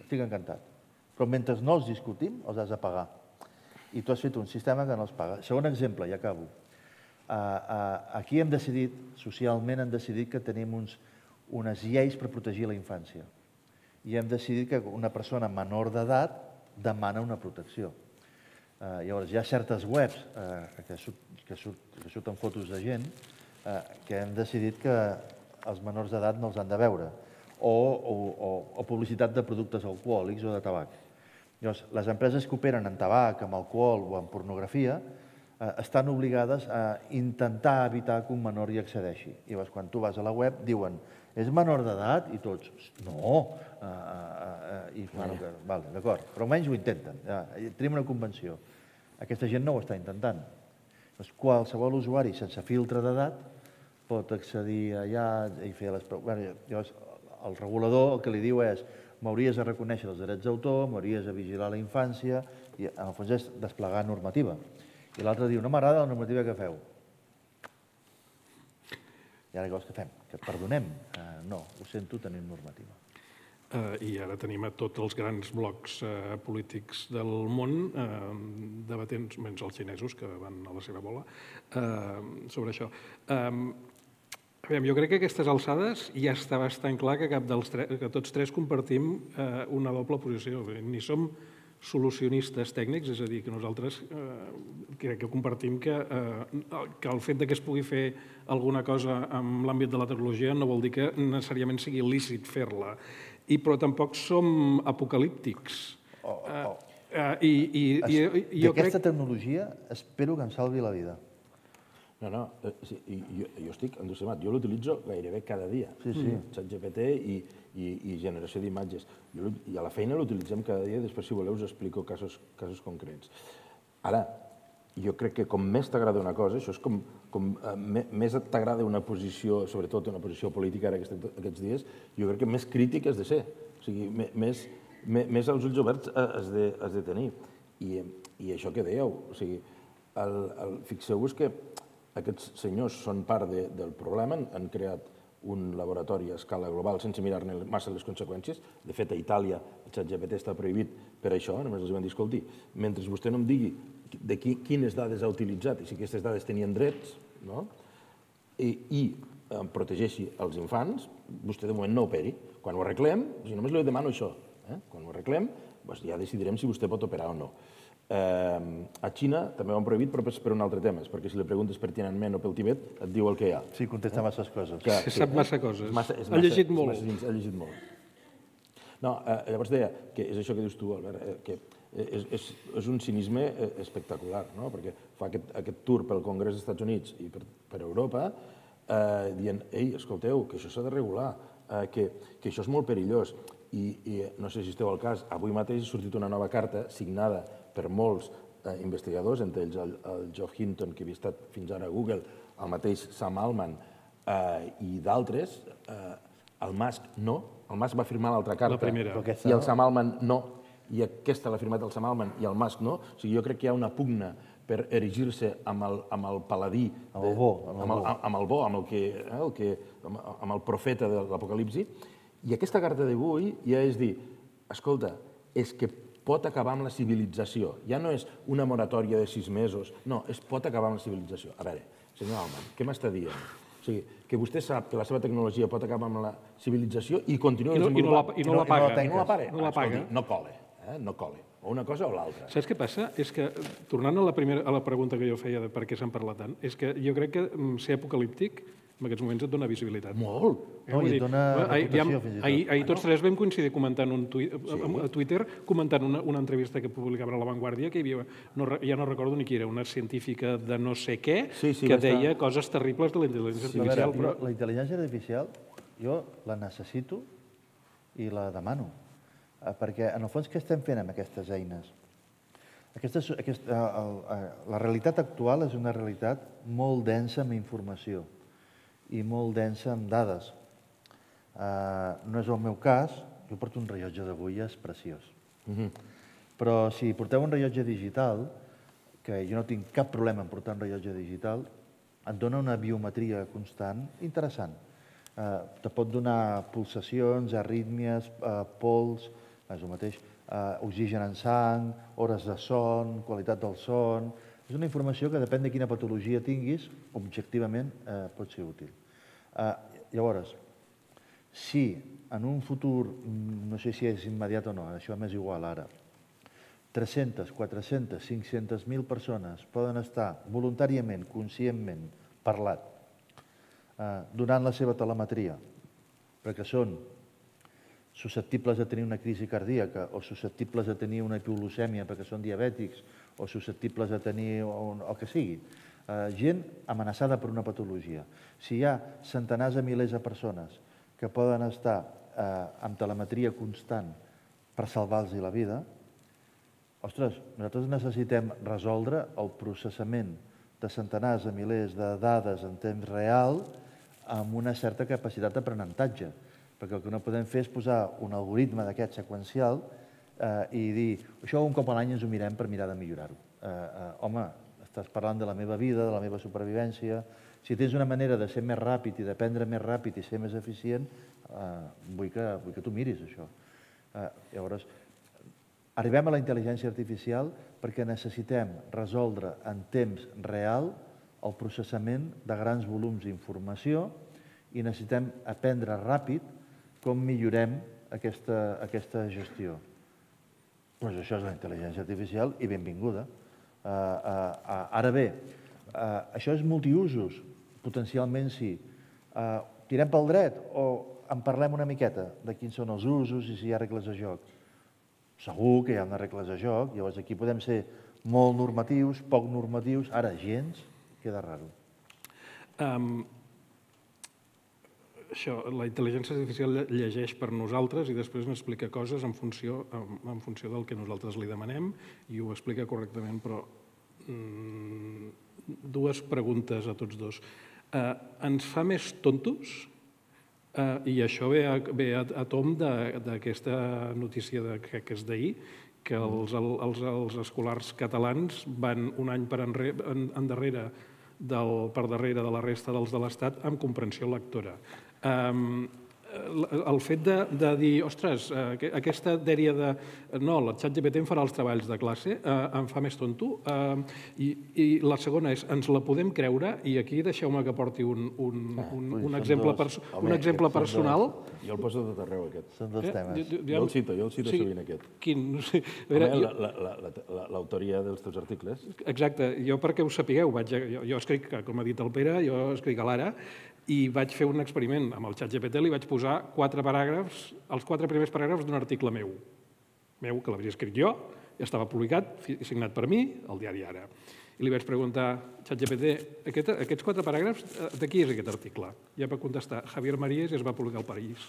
Estic encantat. Però mentre no els discutim, els has de pagar. I tu has fet un sistema que no els paga. Segon exemple, i acabo. Uh, uh, aquí hem decidit, socialment hem decidit que tenim uns, unes lleis per protegir la infància. I hem decidit que una persona menor d'edat demana una protecció. Llavors, hi ha certes webs que surten fotos de gent que hem decidit que els menors d'edat no els han de veure, o publicitat de productes alcohòlics o de tabac. Llavors, les empreses que operen en tabac, en alcohol o en pornografia estan obligades a intentar evitar que un menor hi accedeixi. Llavors, quan tu vas a la web, diuen és menor d'edat? I tots, no. D'acord, però almenys ho intenten. Tenim una convenció. Aquesta gent no ho està intentant. Qualsevol usuari sense filtre d'edat pot accedir allà i fer les... Llavors, el regulador el que li diu és m'hauries de reconèixer els drets d'autor, m'hauries de vigilar la infància, i en el fons és desplegar normativa. I l'altre diu, no m'agrada la normativa que feu. I ara què vols que fem? Que et perdonem? No, ho sento, tenim normativa. I ara tenim a tots els grans blocs polítics del món debatent, menys els xinesos, que van a la seva bola, sobre això. Jo crec que a aquestes alçades ja està bastant clar que tots tres compartim una doble posició. Ni som solucionistes tècnics, és a dir, que nosaltres crec que compartim que el fet que es pugui fer alguna cosa en l'àmbit de la tecnologia no vol dir que necessàriament sigui lícit fer-la, però tampoc som apocalíptics. D'aquesta tecnologia espero que em salvi la vida. No, no, jo estic entusiasmat. Jo l'utilitzo gairebé cada dia. Sí, sí. ChatGPT i generació d'imatges. I a la feina l'utilitzem cada dia, després, si voleu, us explico casos concrets. Ara, jo crec que com més t'agrada una cosa, això és com més t'agrada una posició, sobretot una posició política ara aquests dies, jo crec que més crític has de ser. O sigui, més als ulls oberts has de tenir. I això que dèieu, o sigui, fixeu-vos que aquests senyors són part del problema, han creat un laboratori a escala global sense mirar-ne massa les conseqüències. De fet, a Itàlia el ChatGPT està prohibit per això, només els van dir, escolti, mentre vostè no em digui de quines dades ha utilitzat i si aquestes dades tenien drets, i protegeixi els infants, vostè de moment no operi. Quan ho arreglem, només li demano això, quan ho arreglem ja decidirem si vostè pot operar o no. A Xina també ho han prohibit, però per un altre tema, perquè si li preguntes per Tiananmen o pel Tibet, et diu el que hi ha. Sí, contesta masses coses. Sap massa coses. Ha llegit molt. Ha llegit molt. No, llavors deia que és això que dius tu, Albert, que és un cinisme espectacular, perquè fa aquest tour pel Congrés dels Estats Units i per Europa dient, ei, escolteu, que això s'ha de regular, que això és molt perillós. I no sé si esteu al cas, avui mateix ha sortit una nova carta signada per molts investigadors, entre ells el Geoff Hinton, que havia estat fins ara a Google, el mateix Sam Altman i d'altres. El Musk no, el Musk va firmar l'altra carta i el Sam Altman no, i aquesta l'ha firmat el Sam Altman i el Musk no. O sigui, jo crec que hi ha una pugna per erigir-se amb el paladí, amb el bo, amb el profeta de l'apocalipsi. I aquesta carta d'avui ja és dir, escolta, és que pot acabar amb la civilització. Ja no és una moratòria de sis mesos, no, es pot acabar amb la civilització. A veure, senyor Altman, què m'està dient? O sigui, que vostè sap que la seva tecnologia pot acabar amb la civilització i continua desenvolupant... I no la paga. I no la paga. Escolti, no cole, no cole. O una cosa o l'altra. Saps què passa? És que, tornant a la pregunta que jo feia de per què se'n parla tant, és que jo crec que ser apocalíptic en aquests moments et dona visibilitat. Molt. No, i et dona reputació, fins i tot. Ahir tots tres vam coincidir comentant a Twitter, comentant una entrevista que publicaven a La Vanguardia, que hi havia, ja no recordo ni qui era, una científica de no sé què, que deia coses terribles de la intel·ligència artificial. La intel·ligència artificial jo la necessito i la demano, perquè en el fons què estem fent amb aquestes eines? La realitat actual és una realitat molt densa amb informació i molt densa amb dades. No és el meu cas, jo porto un rellotge d'agulles preciós. Però si porteu un rellotge digital, que jo no tinc cap problema en portar un rellotge digital, et dona una biometria constant interessant. Te pot donar pulsacions, arrítmies, pols, és el mateix, oxigen en sang, hores de son, qualitat del son... És una informació que depèn de quina patologia tinguis, objectivament pot ser útil. Llavors, si en un futur, no sé si és immediat o no, això m'és igual ara, tres-centes, quatre-centes, cinc-centes mil persones poden estar voluntàriament, conscientment, parlat, donant la seva telemetria, perquè són susceptibles de tenir una crisi cardíaca o susceptibles de tenir una hipoglucèmia perquè són diabètics o susceptibles de tenir el que sigui. Gent amenaçada per una patologia. Si hi ha centenars de milers de persones que poden estar amb telemetria constant per salvar-los la vida, ostres, nosaltres necessitem resoldre el processament de centenars de milers de dades en temps real amb una certa capacitat d'aprenentatge. Perquè el que no podem fer és posar un algoritme d'aquest seqüencial i dir això un cop a l'any ens ho mirem per mirar de millorar-ho. Home, estàs parlant de la meva vida, de la meva supervivència. Si tens una manera de ser més ràpid i d'aprendre més ràpid i ser més eficient, vull que tu miris això. Llavors, arribem a la intel·ligència artificial perquè necessitem resoldre en temps real el processament de grans volums d'informació i necessitem aprendre ràpid com millorem aquesta gestió. Doncs això és la intel·ligència artificial i benvinguda. Ara bé, això és multiusos? Potencialment sí. Tirem pel dret o en parlem una miqueta de quins són els usos i si hi ha regles de joc? Segur que hi ha unes regles de joc, llavors aquí podem ser molt normatius, poc normatius, ara gens, queda raro. Això, la intel·ligència artificial llegeix per nosaltres i després n'explica coses en funció del que nosaltres li demanem i ho explica correctament, però dues preguntes a tots dos. Ens fa més tontos? I això ve a tomb d'aquesta notícia que és d'ahir, que els escolars catalans van un any per endarrere per darrere de la resta dels de l'Estat amb comprensió lectora. El fet de dir, ostres, aquesta dèria de no, el ChatGPT em farà els treballs de classe, em fa més tonto. I la segona és, ens la podem creure? I aquí deixeu-me que porti un exemple personal. Jo el poso tot arreu, aquest. Són dos temes. Jo el cito, jo el cito sovint, aquest. Quin? L'autoria dels teus articles. Exacte. Jo, perquè ho sapigueu, jo escric, com ha dit el Pere, jo escric a l'Ara, i vaig fer un experiment amb el ChatGPT, li vaig posar quatre paràgrafs, els quatre primers paràgrafs d'un article meu, meu, que l'havia escrit jo, i estava publicat, signat per mi, al diari Ara. I li vaig preguntar, ChatGPT, aquests quatre paràgrafs, de qui és aquest article? I em va contestar, Javier Marías, i es va publicar al País.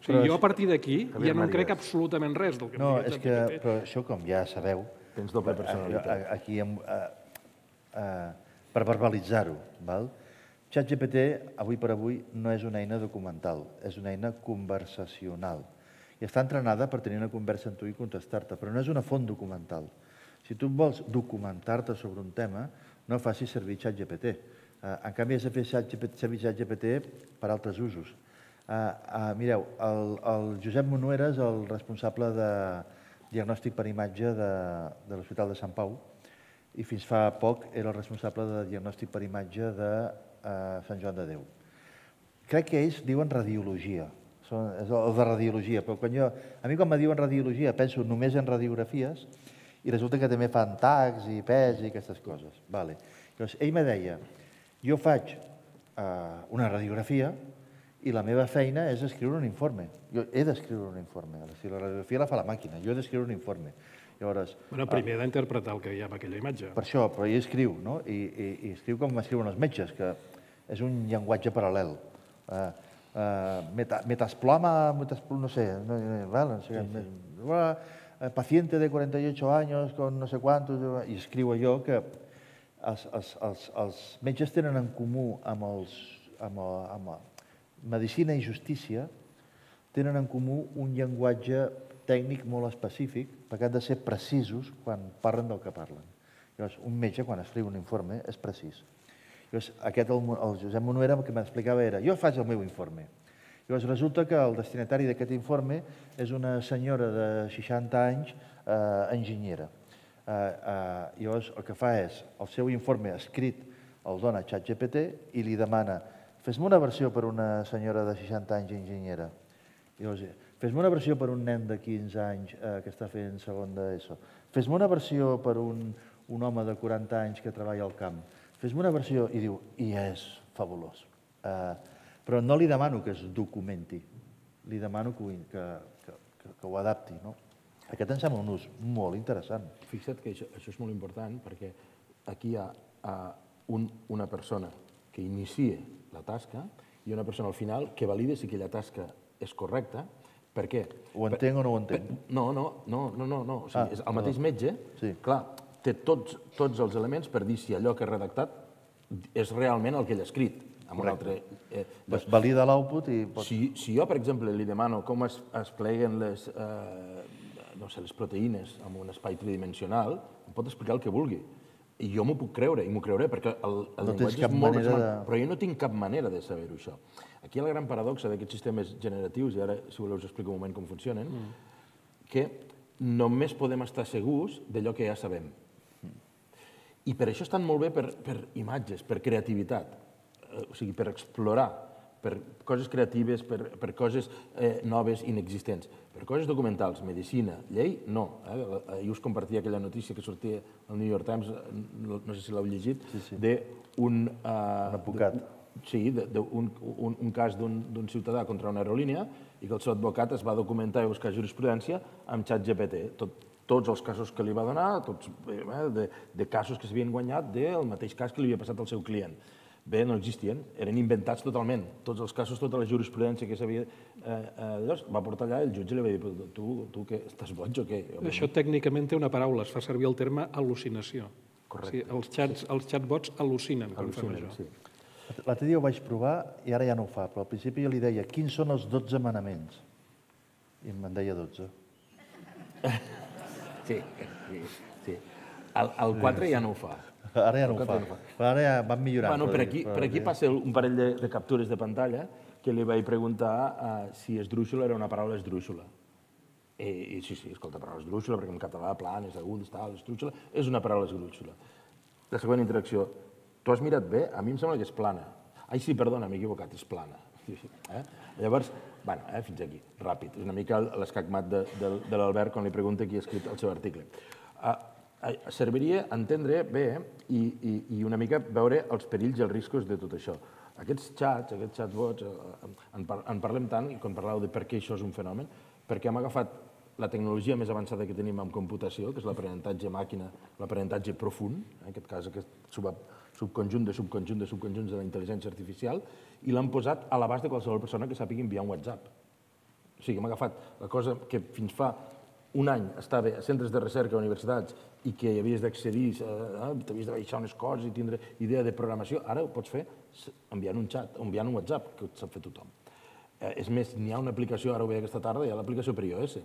O sigui, jo a partir d'aquí ja no em crec absolutament res del que em No, diu és que, però això, com ja sabeu, Tens doble personalitat. aquí, per verbalitzar-ho, val? ChatGPT, avui per avui, no és una eina documental, és una eina conversacional. I està entrenada per tenir una conversa amb tu i contestar-te, però no és una font documental. Si tu vols documentar-te sobre un tema, no facis servir ChatGPT. En canvi, has de fer servir ChatGPT per altres usos. Mireu, el Josep Monuera és el responsable de diagnòstic per imatge de l'Hospital de Sant Pau i fins fa poc era el responsable de diagnòstic per imatge de Sant Joan de Déu. Crec que ells diuen radiologia, és el de radiologia, però a mi quan me diuen radiologia penso només en radiografies i resulta que també fan tags i pes i aquestes coses. Ell me deia, jo faig una radiografia i la meva feina és escriure un informe. Jo he d'escriure un informe. Si la radiografia la fa la màquina, jo he d'escriure un informe. Primer d'interpretar el que hi ha en aquella imatge. Per això, però ell escriu, no? I escriu com escriuen els metges, que és un llenguatge paral·lel. Metasploma, no sé, paciente de cuarenta y ocho años con no sé quantos, i escriu allò que els metges tenen en comú amb medicina i justícia, tenen en comú un llenguatge tècnic molt específic, perquè han de ser precisos quan parlen del que parlen. Llavors, un metge, quan escriu un informe, és precís. Llavors, aquest, el Josep Monuera, el que m'explicava era, jo faig el meu informe. Llavors, resulta que el destinatari d'aquest informe és una senyora de seixanta anys, enginyera. Llavors, el que fa és, el seu informe escrit el dona a ChatGPT i li demana, fes-me una versió per una senyora de seixanta anys enginyera. Llavors, fes-me una versió per un nen de quinze anys que està fent segon d'ESO. Fes-me una versió per un home de quaranta anys que treballa al camp. Fes-me una versió, i diu, i és fabulós. Però no li demano que es documenti, li demano que ho adapti. Aquest em sembla un ús molt interessant. Fixa't que això és molt important perquè aquí hi ha una persona que inicia la tasca i una persona al final que valida si aquella tasca és correcta. Per què? Ho entenc o no ho entenc? No, no, no, no, no. El mateix metge, clar, té tots els elements per dir si allò que ha redactat és realment el que ell ha escrit. Doncs valida l'output i... Si jo, per exemple, li demano com es pleguen les proteïnes en un espai tridimensional, em pot explicar el que vulgui. I jo m'ho puc creure, i m'ho creuré, perquè el llenguatge és molt racional, però jo no tinc cap manera de saber-ho, això. Aquí hi ha la gran paradoxa d'aquests sistemes generatius, i ara, si voleu, us explico un moment com funcionen, que només podem estar segurs d'allò que ja sabem. I per això estan molt bé per imatges, per creativitat, o sigui, per explorar, per coses creatives, per coses noves, inexistents. Per coses documentals, medicina, llei, no. Ahir us compartia aquella notícia que sortia al New York Times, no sé si l'heu llegit, d'un... advocat. Sí, d'un cas d'un ciutadà contra una aerolínia i que el seu advocat es va documentar i buscar jurisprudència amb ChatGPT. Tots els casos que li va donar, de casos que s'havien guanyat del mateix cas que li havia passat al seu client. Bé, no existien, eren inventats totalment. Tots els casos, tota la jurisprudència que s'havia... Va portar allà, el jutge li va dir, tu què, estàs boig o què? Això tècnicament té una paraula, es fa servir el terme al·lucinació. Correcte. Els chatbots al·lucinen quan fan això. L'altre dia ho vaig provar i ara ja no ho fa, però al principi jo li deia, quins són els dotze manaments? I me'n deia dotze. Sí, sí. El quatre ja no ho fa. Ara ja no ho fa. Ara ja van millorant. Per aquí passa un parell de captures de pantalla que li vaig preguntar si esdrúixola era una paraula esdrúixola. I sí, sí, escolta, paraula esdrúixola, perquè en català, plan, és agut, tal, esdrúixola, és una paraula esdrúixola. La següent interacció, tu has mirat bé? A mi em sembla que és plana. Ai, sí, perdona, m'he equivocat, és plana. Llavors, bueno, fins aquí, ràpid. És una mica l'escacmat de l'Albert quan li pregunta qui ha escrit el seu article. Serviria entendre bé i una mica veure els perills i els riscos de tot això. Aquests xats, aquests chatbots, en parlem tant, i quan parlàveu de per què això és un fenomen, perquè hem agafat la tecnologia més avançada que tenim en computació, que és l'aprenentatge màquina, l'aprenentatge profund, en aquest cas aquest subconjunt de subconjunt de subconjunts de la intel·ligència artificial, i l'han posat a l'abast de qualsevol persona que sàpiga enviar un WhatsApp. O sigui, hem agafat la cosa que fins fa un any estava a centres de recerca a universitats i que hi havies d'accedir, t'havies de baixar unes coses i tindre idea de programació, ara ho pots fer enviant un xat, o enviant un WhatsApp, que ho sap fer tothom. És més, n'hi ha una aplicació, ara ho veia aquesta tarda, hi ha l'aplicació per iOS.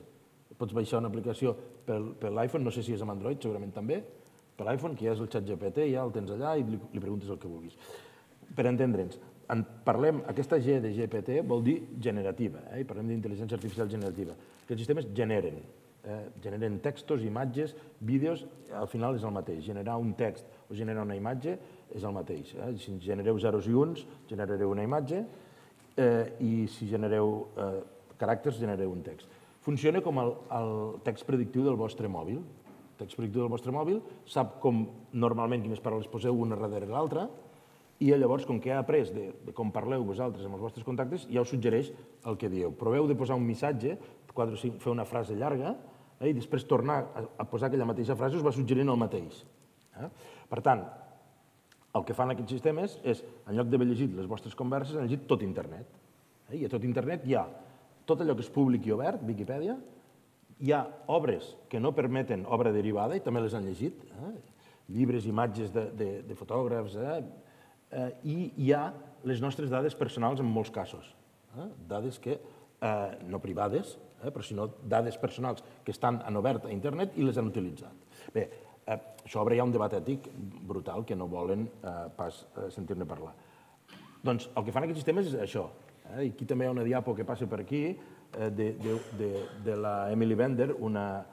Pots baixar una aplicació per l'iPhone, no sé si és amb Android, segurament també, per l'iPhone, que ja és el ChatGPT, ja el tens allà i li preguntes el que vulguis. Per entendre'ns, parlem, aquesta G de G P T vol dir generativa, i parlem d'intel·ligència artificial generativa. Aquests sistemes generen, generen textos, imatges, vídeos, al final és el mateix. Generar un text o generar una imatge és el mateix. Si genereu zeros i uns, generareu una imatge, i si genereu caràcters, generareu un text. Funciona com el text predictiu del vostre mòbil. El text predictiu del vostre mòbil sap com normalment quines paraules poseu una darrere l'altra, i llavors, com que ha après de com parleu vosaltres amb els vostres contactes, ja us suggereix el que dieu. Proveu de posar un missatge, fer una frase llarga, i després tornar a posar aquella mateixa frase us va suggerint el mateix. Per tant, el que fan aquests sistemes és, en lloc d'haver llegit les vostres converses, han llegit tot internet. I a tot internet hi ha tot allò que és públic i obert, Viquipèdia, hi ha obres que no permeten obra derivada, i també les han llegit, llibres, imatges de fotògrafs, i hi ha les nostres dades personals en molts casos. Dades que, no privades, però sinó dades personals que estan en obert a internet i les han utilitzat. Bé, això obre ja un debat ètic brutal que no volen pas sentir-ne parlar. Doncs el que fan aquests sistemes és això. Aquí també hi ha una diapo que passa per aquí de la Emily Bender, una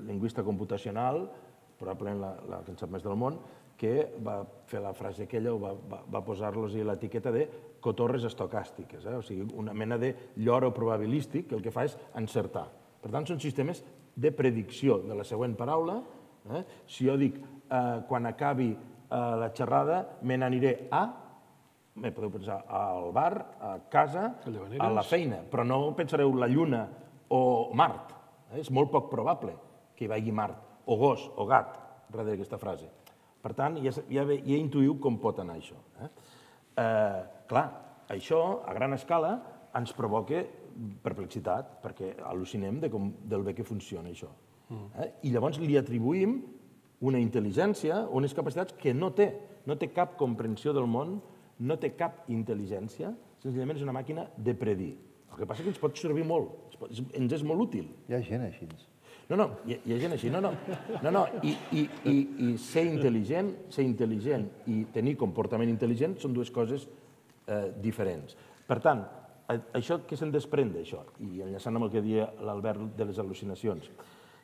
lingüista computacional, probablement la que en sap més del món, que va fer la frase aquella o va posar-los l'etiqueta de cotorres estocàstiques, o sigui, una mena de lloro probabilístic que el que fa és encertar. Per tant, són sistemes de predicció de la següent paraula. Si jo dic, quan acabi la xerrada, me n'aniré a, me podeu pensar, al bar, a casa, a la feina, però no pensareu la Lluna o Mart. És molt poc probable que hi vagi Mart, o gos, o gat, darrere d'aquesta frase. Per tant, ja intuïu com pot anar això. Clar, això, a gran escala, ens provoca perplexitat, perquè al·lucinem del bé que funciona això. I llavors li atribuïm una intel·ligència, unes capacitats que no té. No té cap comprensió del món, no té cap intel·ligència, senzillament és una màquina de predir. El que passa és que ens pot servir molt, ens és molt útil. Hi ha gent així. No, no, hi ha gent així, no, no. No, no, i ser intel·ligent, ser intel·ligent i tenir comportament intel·ligent són dues coses diferents. Per tant, això què se'n desprèn d'això? I enllaçant amb el que deia l'Albert de les al·lucinacions,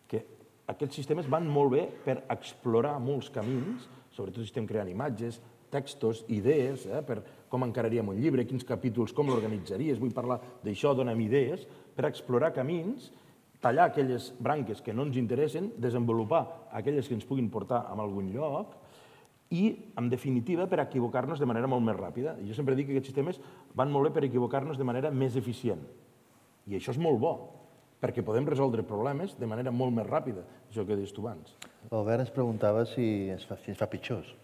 que aquests sistemes van molt bé per explorar molts camins, sobretot si estem creant imatges, textos, idees, per com encararíem un llibre, quins capítols, com l'organitzaries, vull parlar d'això, dona'm idees, per explorar camins, tallar aquelles branques que no ens interessen, desenvolupar aquelles que ens puguin portar a algun lloc i, en definitiva, per equivocar-nos de manera molt més ràpida. Jo sempre dic que aquests sistemes van molt bé per equivocar-nos de manera més eficient. I això és molt bo, perquè podem resoldre problemes de manera molt més ràpida, això que deies tu abans. L'Albert ens preguntava si ens fa pitjors.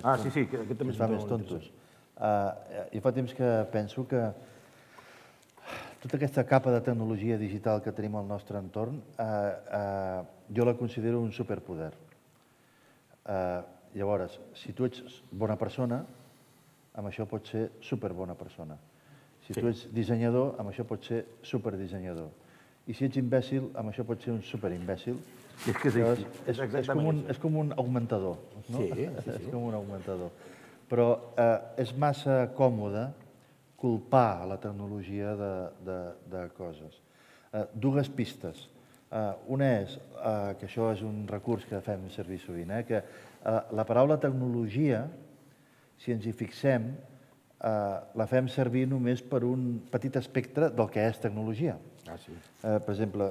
Ah, sí, sí, aquest també és molt interessant. Jo fa temps que penso que tota aquesta capa de tecnologia digital que tenim al nostre entorn, jo la considero un superpoder. Llavors, si tu ets bona persona, amb això pots ser superbona persona. Si tu ets dissenyador, amb això pots ser superdissenyador. I si ets imbècil, amb això pots ser un superimbècil. És com un augmentador. Sí, sí. És com un augmentador. Però és massa còmode culpar la tecnologia de coses. Dues pistes. Una és, que això és un recurs que fem servir sovint, que la paraula tecnologia, si ens hi fixem, la fem servir només per un petit espectre del que és tecnologia. Per exemple,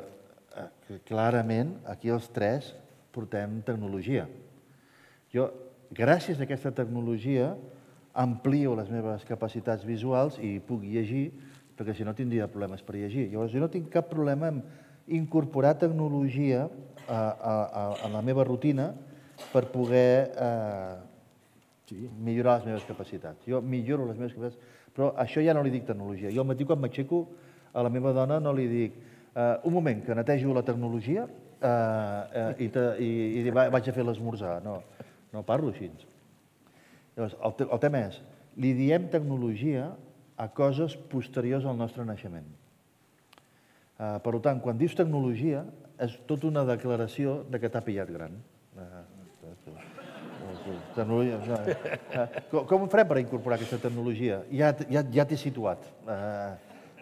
clarament, aquí els tres portem tecnologia. Jo, gràcies a aquesta tecnologia, amplio les meves capacitats visuals i puc llegir, perquè si no tindria problemes per llegir. Llavors, jo no tinc cap problema en incorporar tecnologia a la meva rutina per poder millorar les meves capacitats. Jo milloro les meves capacitats, però això ja no li dic tecnologia. Jo al matí quan m'aixeco a la meva dona no li dic un moment, que netejo la tecnologia i vaig a fer l'esmorzar. No parlo així. Llavors, el tema és, li diem tecnologia a coses posteriors al nostre naixement. Per tant, quan dius tecnologia, és tota una declaració que t'ha pillat gran. Com ho farem per incorporar aquesta tecnologia? Ja t'he situat.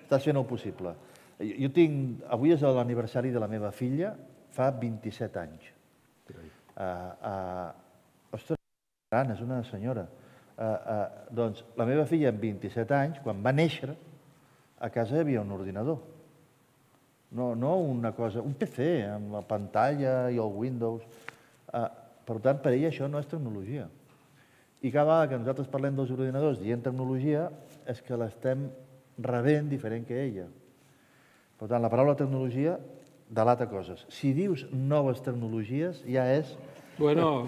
Estàs fent el possible. Jo tinc... Avui és l'aniversari de la meva filla, fa vint-i-set anys. Ostres, és una senyora. Doncs la meva filla amb vint-i-set anys, quan va néixer, a casa hi havia un ordinador. No una cosa, un P C amb la pantalla i el Windows. Per tant, per ella això no és tecnologia. I cada vegada que nosaltres parlem dels ordinadors dient tecnologia és que l'estem rebent diferent que ella. Per tant, la paraula tecnologia delata coses. Si dius noves tecnologies, ja és... Bueno...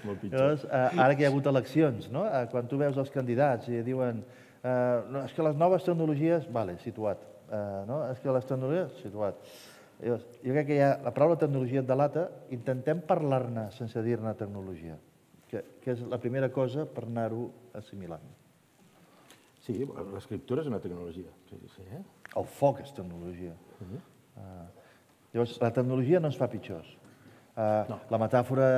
Ara que hi ha hagut eleccions, quan tu veus els candidats i diuen és que les noves tecnologies... Vale, situat. És que les tecnologies... Situat. Jo crec que la paraula tecnologia et delata, intentem parlar-ne sense dir-ne tecnologia, que és la primera cosa per anar-ho assimilant. Sí, l'escriptura és una tecnologia. El foc és tecnologia. Llavors, la tecnologia no ens fa pitjors. La metàfora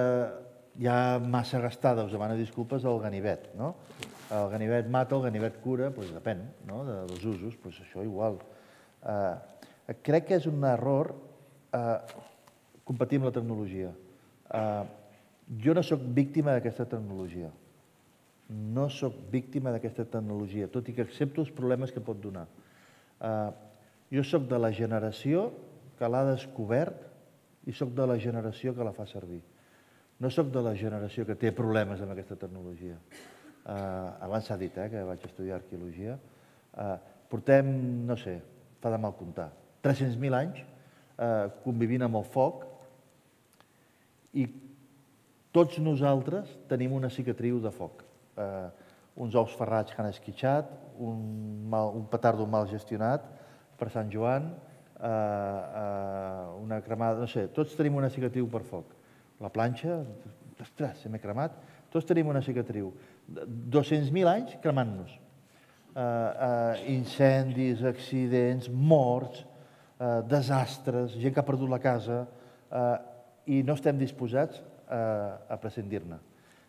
ja massa gastada, us demano disculpes, del ganivet. El ganivet mata, el ganivet cura, doncs depèn dels usos, doncs això igual. Crec que és un error competir amb la tecnologia. Jo no soc víctima d'aquesta tecnologia. no sóc víctima d'aquesta tecnologia, tot i que accepto els problemes que pot donar. Jo sóc de la generació que l'ha descobert i sóc de la generació que la fa servir. No sóc de la generació que té problemes amb aquesta tecnologia. Abans s'ha dit que vaig estudiar arqueologia. Portem, no sé, fa de mal comptar, tres-cents mil anys convivint amb el foc i tots nosaltres tenim una cicatriu de foc. Uns ous ferrats que han esquitxat, un petardo mal gestionat per Sant Joan, una cremada, no sé, tots tenim una cicatriu per foc. La planxa, ostres, se m'he cremat, tots tenim una cicatriu. dos-cents mil anys cremant-nos. Incendis, accidents, morts, desastres, gent que ha perdut la casa, i no estem disposats a prescindir-ne.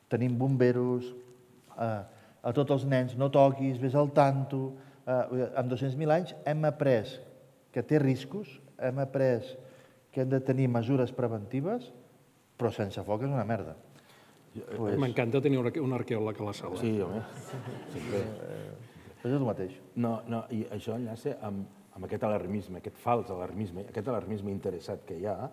Tenim bomberos, a tots els nens, no toquis, vés al tanto. En dos-cents mil anys hem après que té riscos, hem après que hem de tenir mesures preventives, però sense foc és una merda. M'encanta tenir un arqueòleg a la sala. Sí, home. És el mateix. No, no, i això enllaça amb aquest alarmisme, aquest fals alarmisme, aquest alarmisme interessat que hi ha,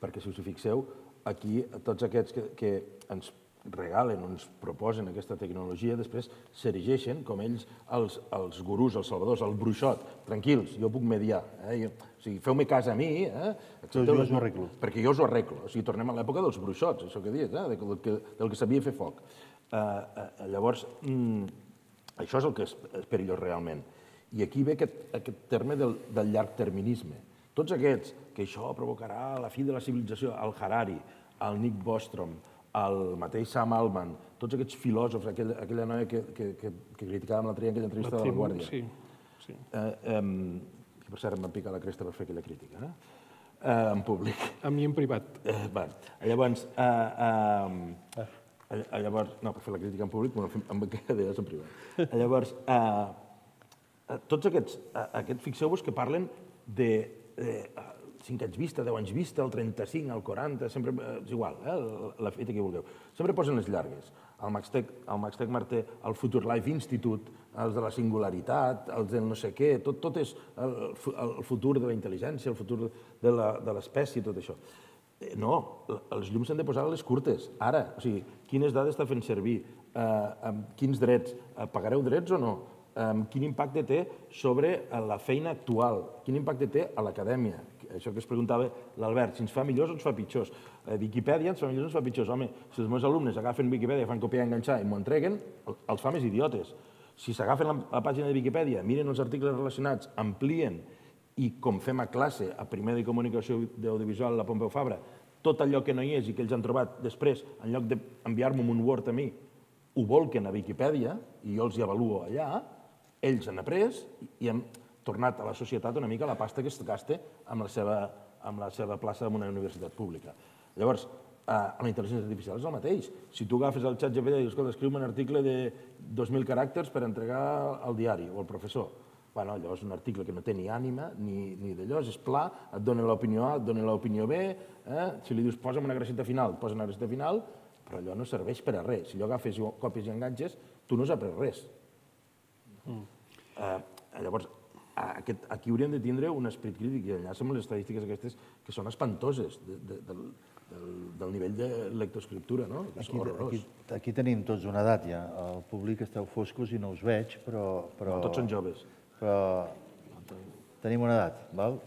perquè si us hi fixeu, aquí tots aquests que ens regalen o ens proposen aquesta tecnologia, després s'erigeixen com ells els gurús, els salvadors, el bruixot. Tranquils, jo puc mediar. O sigui, feu-me cas a mi, perquè jo us ho arreglo. O sigui, tornem a l'època dels bruixots, això que dius, del que sabia fer foc. Llavors, això és el que és perillós realment. I aquí ve aquest terme del llargterminisme. Tots aquests, que això provocarà la fi de la civilització, el Harari, el Nick Bostrom, el mateix Sam Altman, tots aquests filòsofs, aquella noia que criticàvem l'altre dia en aquella entrevista de La Guàrdia. Sí, sí. Per cert, em van picar la cresta per fer aquella crítica, en públic. A mi en privat. Llavors, no, per fer la crítica en públic, em va quedar d'elles en privat. Llavors, tots aquests, fixeu-vos que parlen de cinc anys vista, deu anys vista, el trenta-cinc, el quaranta, sempre és igual, la fita que vulgueu. Sempre posen les llargues. El Max Tegmark, el Future Life Institute, els de la singularitat, els del no sé què, tot és el futur de la intel·ligència, el futur de l'espècie, tot això. No, els llums s'han de posar a les curtes, ara. O sigui, quines dades està fent servir, quins drets, pagareu drets o no? Quin impacte té sobre la feina actual, quin impacte té a l'acadèmia. Això que es preguntava l'Albert, si ens fa millors o ens fa pitjors. Viquipèdia ens fa millors o ens fa pitjors. Home, si els meus alumnes agafen Viquipèdia, fan copiar i enganxar i m'ho entreguen, els fa més idiotes. Si s'agafen la pàgina de Viquipèdia, miren els articles relacionats, amplien i, com fem a classe, a primer de comunicació audiovisual a la Pompeu Fabra, tot allò que no hi és i que ells han trobat després, en lloc d'enviar-me un Word a mi, ho volquen a Viquipèdia i jo els hi avaluo allà, ells han après i hem tornat a la societat una mica la pasta que es gasta amb la seva plaça en una universitat pública. Llavors, la intel·ligència artificial és el mateix. Si tu agafes el xat G P T i dius, escolta, escriu-me un article de dos mil caràcters per entregar al diari o al professor. Bueno, llavors un article que no té ni ànima ni d'allò, és pla, et dona l'opinió A, et dona l'opinió B, si li dius posa'm una graceta final, posa una graceta final, però allò no serveix per a res. Si allò agafes i copies i enganxes, tu no has après res. Llavors, aquí hauríem de tindre un esperit crític i enllaça amb les estadístiques aquestes que són espantoses del nivell de lectoescriptura, no? Aquí tenim tots una edat ja. El públic esteu foscos i no us veig, però... Tots són joves. Però tenim una edat, val?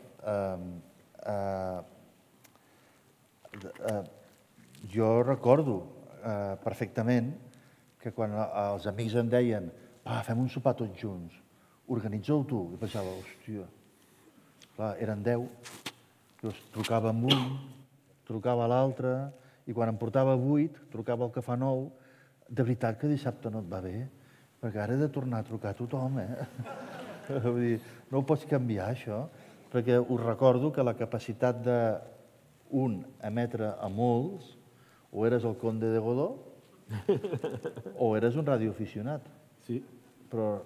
Jo recordo perfectament que quan els amics em deien fem un sopar tots junts, organitzeu tu, i pensava, hòstia, clar, eren deu, trucava amb un, trucava a l'altre, i quan em portava vuit, trucava al que fa nou, de veritat que dissabte no et va bé, perquè ara he de tornar a trucar a tothom, eh? Vull dir, no ho pots canviar, això, perquè us recordo que la capacitat d'un emetre a molts, o eres el conde de Godó, o eres un radioaficionat. Sí. Però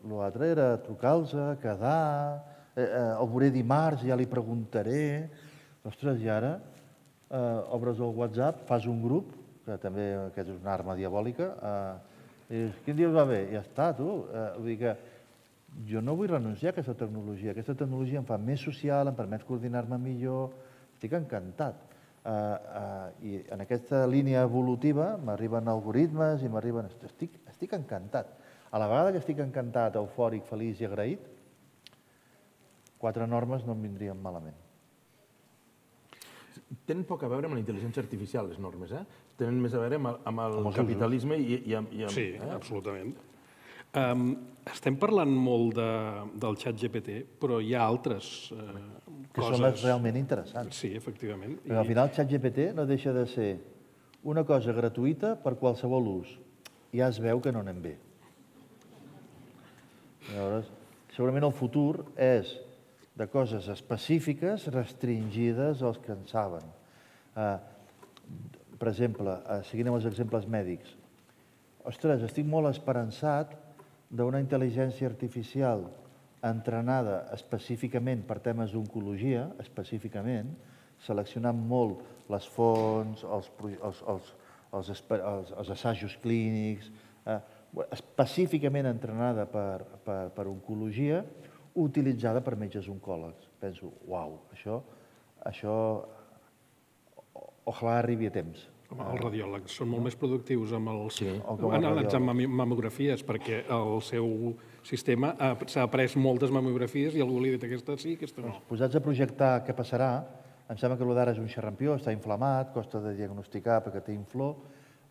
l'altre era trucar-los, quedar, el veuré dimarts, ja li preguntaré. Ostres, i ara obres el WhatsApp, fas un grup, que també és una arma diabòlica, Dius, quin dia us va bé? Ja està, tu. Vull dir que jo no vull renunciar a aquesta tecnologia. Aquesta tecnologia em fa més social, em permet coordinar-me millor. Estic encantat. I en aquesta línia evolutiva m'arriben algoritmes i m'arriben... Estic encantat. A la vegada que estic encantat, eufòric, feliç i agraït, quatre normes no em vindrien malament. Tenen poc a veure amb la intel·ligència artificial, les normes, eh? Tenen més a veure amb el capitalisme i amb... Sí, absolutament. Estem parlant molt del xat G P T, però hi ha altres coses... Que són les realment interessants. Sí, efectivament. Perquè al final el xat G P T no deixa de ser una cosa gratuïta per qualsevol ús. Ja es veu que no anem bé. Llavors, segurament el futur és de coses específiques restringides als que en saben. Per exemple, seguint amb els exemples mèdics, ostres, estic molt esperançat d'una intel·ligència artificial entrenada específicament per temes d'oncologia, específicament, seleccionant molt les fonts, els assajos clínics, específicament entrenada per oncologia, utilitzada per metges oncòlegs. Penso, uau, això, això, ojalà arribi a temps. Els radiòlegs són molt més productius amb els... analitzant mamografies, perquè el seu sistema s'ha après moltes mamografies i algú li ha dit aquesta sí, aquesta no. Posats a projectar què passarà, em sembla que el d'ara és un xerrampió, està inflamat, costa de diagnosticar perquè té inflor,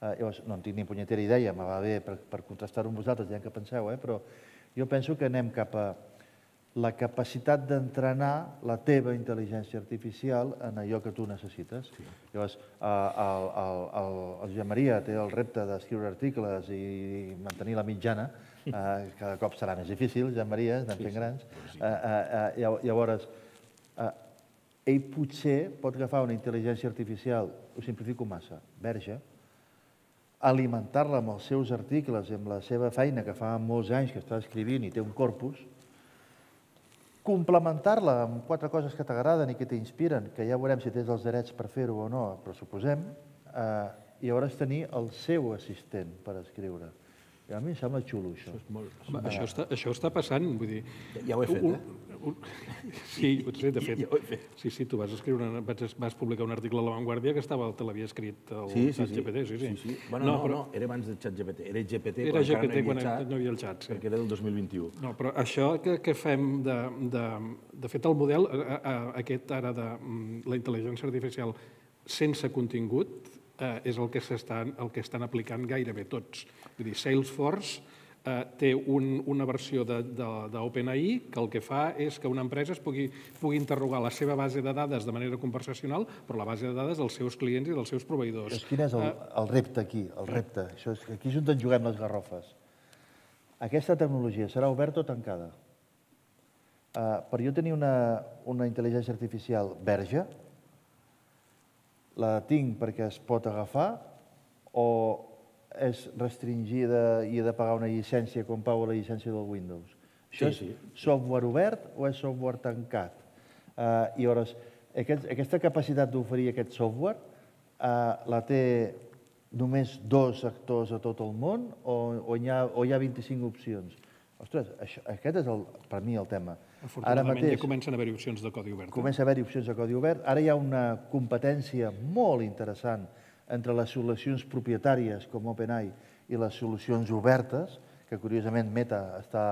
llavors no en tinc ni punyetera idea, me va bé per contrastar-ho amb vosaltres, ja que penseu, però jo penso que anem cap a la capacitat d'entrenar la teva intel·ligència artificial en allò que tu necessites. Llavors, el Josep Maria té el repte d'escriure articles i mantenir la mitjana, cada cop serà més difícil, Josep Maria, estem fent grans. Llavors, ell potser pot agafar una intel·ligència artificial, ho simplifico massa, verge, alimentar-la amb els seus articles i amb la seva feina que fa molts anys que està escrivint i té un corpus, complementar-la amb quatre coses que t'agraden i que t'inspiren, que ja veurem si tens els drets per fer-ho o no, però suposem, i llavors tenir el seu assistent per escriure. I a mi em sembla xulo, això. Això està passant, vull dir... Ja ho he fet, eh? Sí, potser, de fet. Sí, sí, tu vas escriure, vas publicar un article a La Vanguardia que te l'havia escrit el xat G P T, sí, sí. Bueno, no, era abans del xat G P T, era G P T quan encara no hi havia el xat, perquè era del dos mil vint-i-u. No, però això que fem de... De fet, el model aquest ara de la intel·ligència artificial sense contingut és el que estan aplicant gairebé tots. Vull dir, Salesforce té una versió d'OpenAI que el que fa és que una empresa es pugui interrogar la seva base de dades de manera conversacional, però la base de dades dels seus clients i dels seus proveïdors. Quin és el repte aquí? El repte. Aquí és on ens juguem les garrofes. Aquesta tecnologia serà oberta o tancada? Per jo tenir una intel·ligència artificial verge, la tinc perquè es pot agafar o és restringida i he de pagar una llicència com pago la llicència del Windows? Això és software obert o és software tancat? I llavors, aquesta capacitat d'oferir aquest software la té només dos actors a tot el món o hi ha vint-i-cinc opcions? Ostres, aquest és per mi el tema. Afortunadament ja comencen a haver-hi opcions de codi obert. Comença a haver-hi opcions de codi obert. Ara hi ha una competència molt interessant entre les solucions propietàries com OpenAI i les solucions obertes, que curiosament Meta està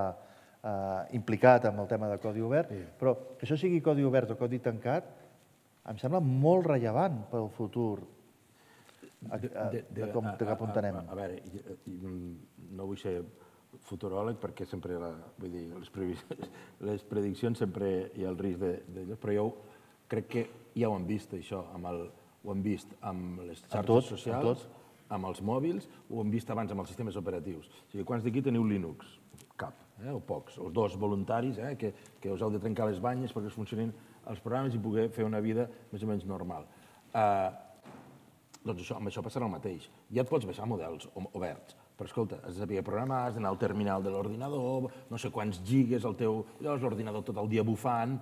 implicat amb el tema de codi obert, però que això sigui codi obert o codi tancat em sembla molt rellevant pel futur de cap on anem. A veure, no vull ser futuròleg perquè sempre, vull dir, les prediccions sempre hi ha el risc d'elles, però jo crec que ja ho hem vist, això, ho hem vist amb les xarxes socials, amb els mòbils, ho hem vist abans amb els sistemes operatius. O sigui, quants d'aquí teniu Linux? Cap, o pocs. Els dos voluntaris que us heu de trencar les banyes perquè us funcionin els programes i poder fer una vida més o menys normal. Doncs amb això passarà el mateix. Ja et pots baixar models oberts, però escolta, has de saber programar, has d'anar al terminal de l'ordinador, no sé quants gigas el teu... Llavors l'ordinador tot el dia bufant.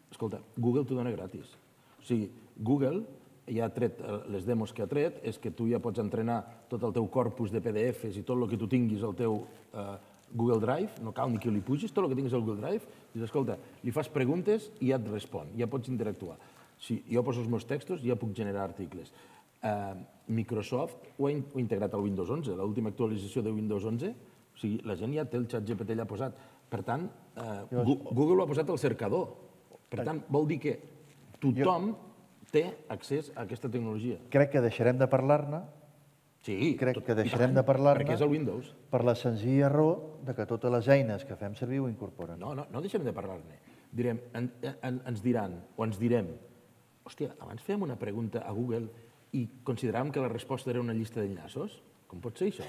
Escolta, Google t'ho dona gratis. O sigui, Google ja ha tret les demos que ha tret, és que tu ja pots entrenar tot el teu corpus de P D Efes i tot el que tu tinguis al teu Google Drive, no cal ni que li pugis, tot el que tinguis al Google Drive, dius, escolta, li fas preguntes i ja et respon, ja pots interactuar. Si jo poso els meus textos, ja puc generar articles. Microsoft ho ha integrat al Windows onze, l'última actualització de Windows onze, o sigui, la gent ja té el ChatGPT allà posat. Per tant, Google ho ha posat al cercador. Per tant, vol dir que tothom té accés a aquesta tecnologia. Crec que deixarem de parlar-ne. Sí, crec que deixarem de parlar-ne perquè és el Windows. Per la senzilla raó de que totes les eines que fem servir ho incorporen. No, no, no deixarem de parlar-ne. Direm, ens diran, o ens direm, hòstia, abans fèiem una pregunta a Google i consideràvem que la resposta era una llista d'enllaços? Com pot ser això?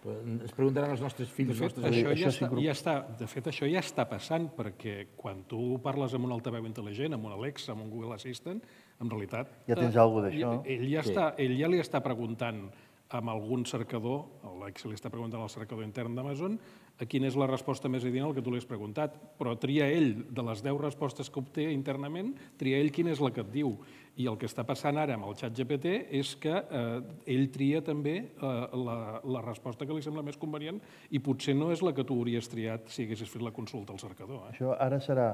Ens preguntaran els nostres fills... De fet, això ja està, ja està, de fet, això ja està passant, perquè quan tu parles amb un altaveu intel·ligent, amb un Alexa, amb un Google Assistant, en realitat... Ja tens alguna cosa d'això. Ell, ja està, ell ja li està preguntant amb algun cercador, l'Alexa li està preguntant al cercador intern d'Amazon, a quina és la resposta més adient al que tu li has preguntat, però tria ell, de les deu respostes que obté internament, tria ell quina és la que et diu. I el que està passant ara amb el ChatGPT és que ell tria també la resposta que li sembla més convenient i potser no és la que tu hauries triat si haguessis fet la consulta al cercador. Això ara serà...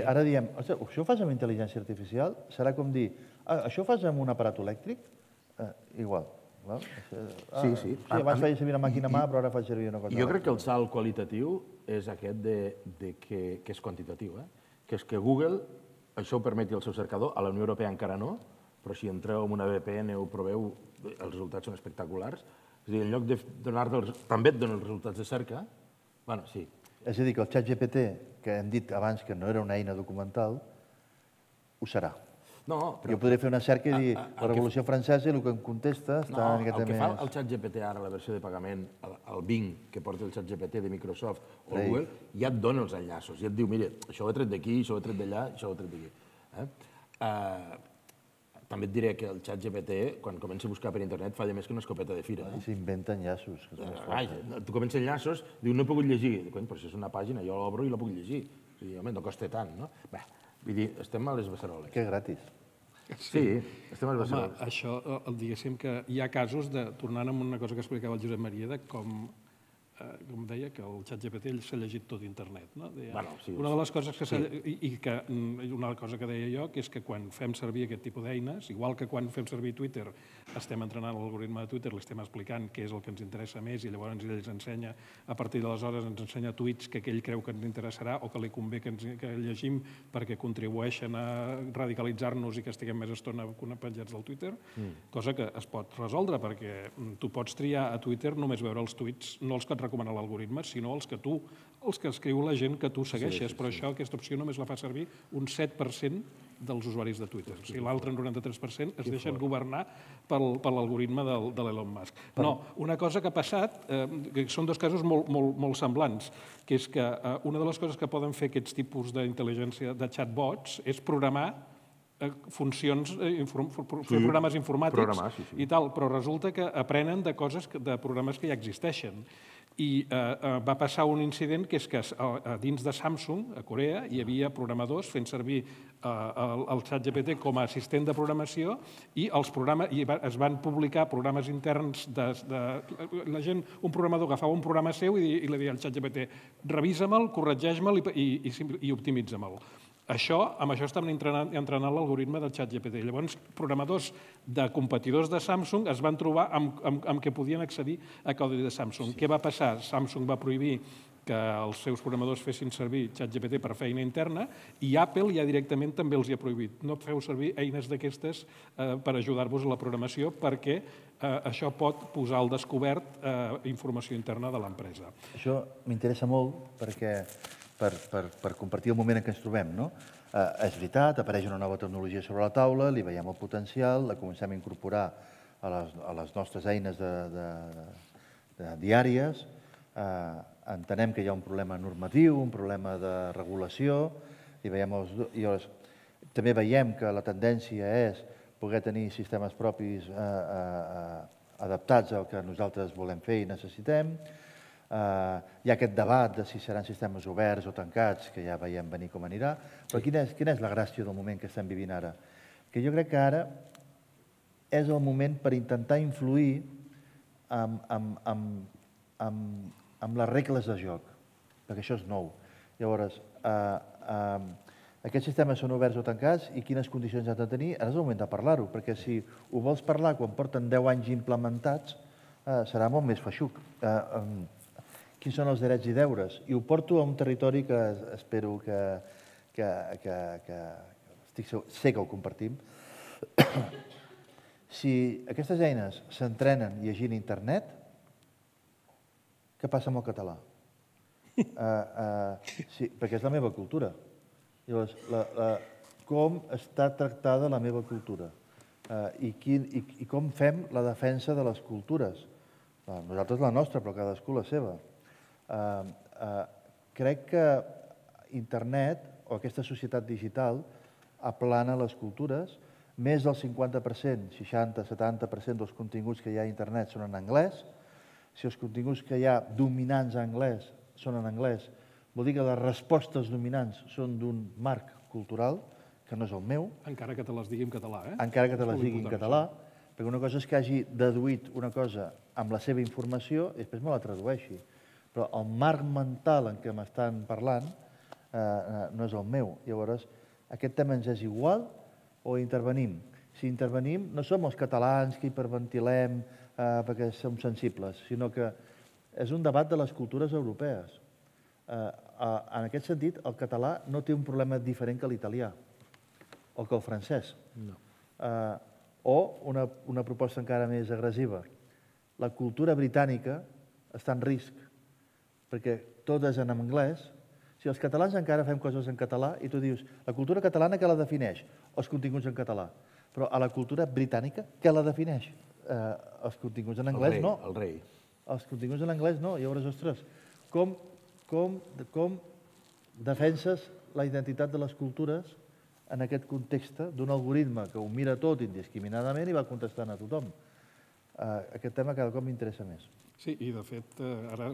Ara diem, això ho fas amb intel·ligència artificial? Serà com dir, això ho fas amb un aparat elèctric? Igual. Sí, sí. Abans feia servir una màquina mà, però ara faig servir una cosa. Jo crec que el salt qualitatiu és aquest que és quantitatiu, que és que Google això ho permeti el seu cercador, a la Unió Europea encara no, però si entreu en una V P N o ho proveu, els resultats són espectaculars. És a dir, en lloc de donar-te... També et donen els resultats de cerca. Bueno, sí. És a dir, que el ChatGPT, que hem dit abans que no era una eina documental, ho serà. No, però... Jo podré fer una cerca i dir, la Revolució Francesa i el que em contesta està una miqueta més... No, el que fa el ChatGPT ara, la versió de pagament, el Bing, que porta el ChatGPT de Microsoft o Google, ja et dona els enllaços, ja et diu, mira, això ho he tret d'aquí, això ho he tret d'allà, això ho he tret d'aquí. També et diré que el ChatGPT, quan comença a buscar per internet, falla més que una escopeta de fira. I s'inventa enllaços. Tu comença enllaços, diu, no he pogut llegir. Però això és una pàgina, jo l'obro i la puc llegir. O sigui, home, no costa tant, no? Bé, vull dir, estem a les beceroles. Que gratis. Sí, estem a les beceroles. Home, això, diguéssim que hi ha casos de, tornant amb una cosa que explicava el Josep Maria, de com, com deia, que el ChatGPT s'ha llegit tot internet. Una de les coses que s'ha... I que una cosa que deia jo, que és que quan fem servir aquest tipus d'eines, igual que quan fem servir Twitter, estem entrenant l'algoritme de Twitter, li estem explicant què és el que ens interessa més i llavors ell ens ensenya, a partir d'aleshores ens ensenya tuits que ell creu que ens interessarà o que li convé que llegim perquè contribueixen a radicalitzar-nos i que estiguem més estona penjats del Twitter, cosa que es pot resoldre perquè tu pots triar a Twitter només veure els tuits, no els que et recomana l'algoritme, sinó els que tu, els que escriu la gent que tu segueixes, però això, aquesta opció només la fa servir un set per cent dels usuaris de Twitter. O sigui, l'altre noranta-tres per cent es deixen governar per l'algoritme de l'Elon Musk. No, una cosa que ha passat, que són dos casos molt semblants, que és que una de les coses que poden fer aquests tipus d'intel·ligència de chatbots és programar funcions, fer programes informàtics i tal, però resulta que aprenen de coses, de programes que ja existeixen. I va passar un incident que és que dins de Samsung, a Corea, hi havia programadors fent servir el ChatGPT com a assistent de programació i es van publicar programes interns de... La gent, un programador agafava un programa seu i li deia al ChatGPT revisa-me'l, corregeix-me'l i optimitza-me'l. Això, amb això estan entrenant l'algoritme del ChatGPT. Llavors, programadors de competidors de Samsung es van trobar amb què podien accedir a codi de Samsung. Què va passar? Samsung va prohibir que els seus programadors fessin servir ChatGPT per feina interna i Apple ja directament també els hi ha prohibit. No feu servir eines d'aquestes per ajudar-vos a la programació perquè això pot posar al descobert informació interna de l'empresa. Això m'interessa molt perquè per compartir el moment en què ens trobem. És veritat, apareix una nova tecnologia sobre la taula, li veiem el potencial, la comencem a incorporar a les nostres eines diàries, entenem que hi ha un problema normatiu, un problema de regulació, també veiem que la tendència és poder tenir sistemes propis adaptats al que nosaltres volem fer i necessitem. Hi ha aquest debat de si seran sistemes oberts o tancats, que ja veiem venir com anirà, però quina és la gràcia del moment que estem vivint ara? Que jo crec que ara és el moment per intentar influir amb, amb, amb, amb, amb les regles de joc, perquè això és nou. Llavors, eh, eh, aquests sistemes són oberts o tancats i quines condicions han de tenir, ara és el moment de parlar-ho, perquè si ho vols parlar quan porten deu anys implementats, eh, serà molt més feixuc. Eh, eh, quins són els drets i deures? I ho porto a un territori que espero que, que, que, que estic segur, sé que ho compartim. Si aquestes eines s'entrenen llegint internet, què passa amb el català? Uh, uh, sí, perquè és la meva cultura. Llavors, la, la, com està tractada la meva cultura? Uh, i, quin, i, I com fem la defensa de les cultures? Uh, nosaltres la nostra, però cadascú la seva. Uh, uh, crec que internet, o aquesta societat digital, aplana les cultures. Més del cinquanta per cent, seixanta setanta per cent dels continguts que hi ha a internet són en anglès. Si els continguts que hi ha dominants en anglès són en anglès, vol dir que les respostes dominants són d'un marc cultural, que no és el meu. Encara que te les digui en català, eh? Encara que te les digui en català, perquè una cosa és que hagi deduït una cosa amb la seva informació i després me la tradueixi. Però el marc mental en què m'estan parlant eh, no és el meu. Llavors, aquest tema ens és igual o intervenim? Si intervenim, no som els catalans que hiperventilem eh, perquè som sensibles, sinó que és un debat de les cultures europees. Eh, eh, en aquest sentit, el català no té un problema diferent que l'italià o que el francès. No. Eh, o una, una proposta encara més agressiva. La cultura britànica està en risc, perquè tot és en anglès. Si els catalans encara fem coses en català i tu dius, la cultura catalana què la defineix? Els continguts en català. Però a la cultura britànica què la defineix? Eh, els continguts en anglès el rei, no. El rei. Els continguts en anglès no. Llavors, ostres, com, com, com defenses la identitat de les cultures en aquest context d'un algoritme que ho mira tot indiscriminadament i va contestant a tothom? Uh, aquest tema cada cop m'interessa més. Sí, i de fet, ara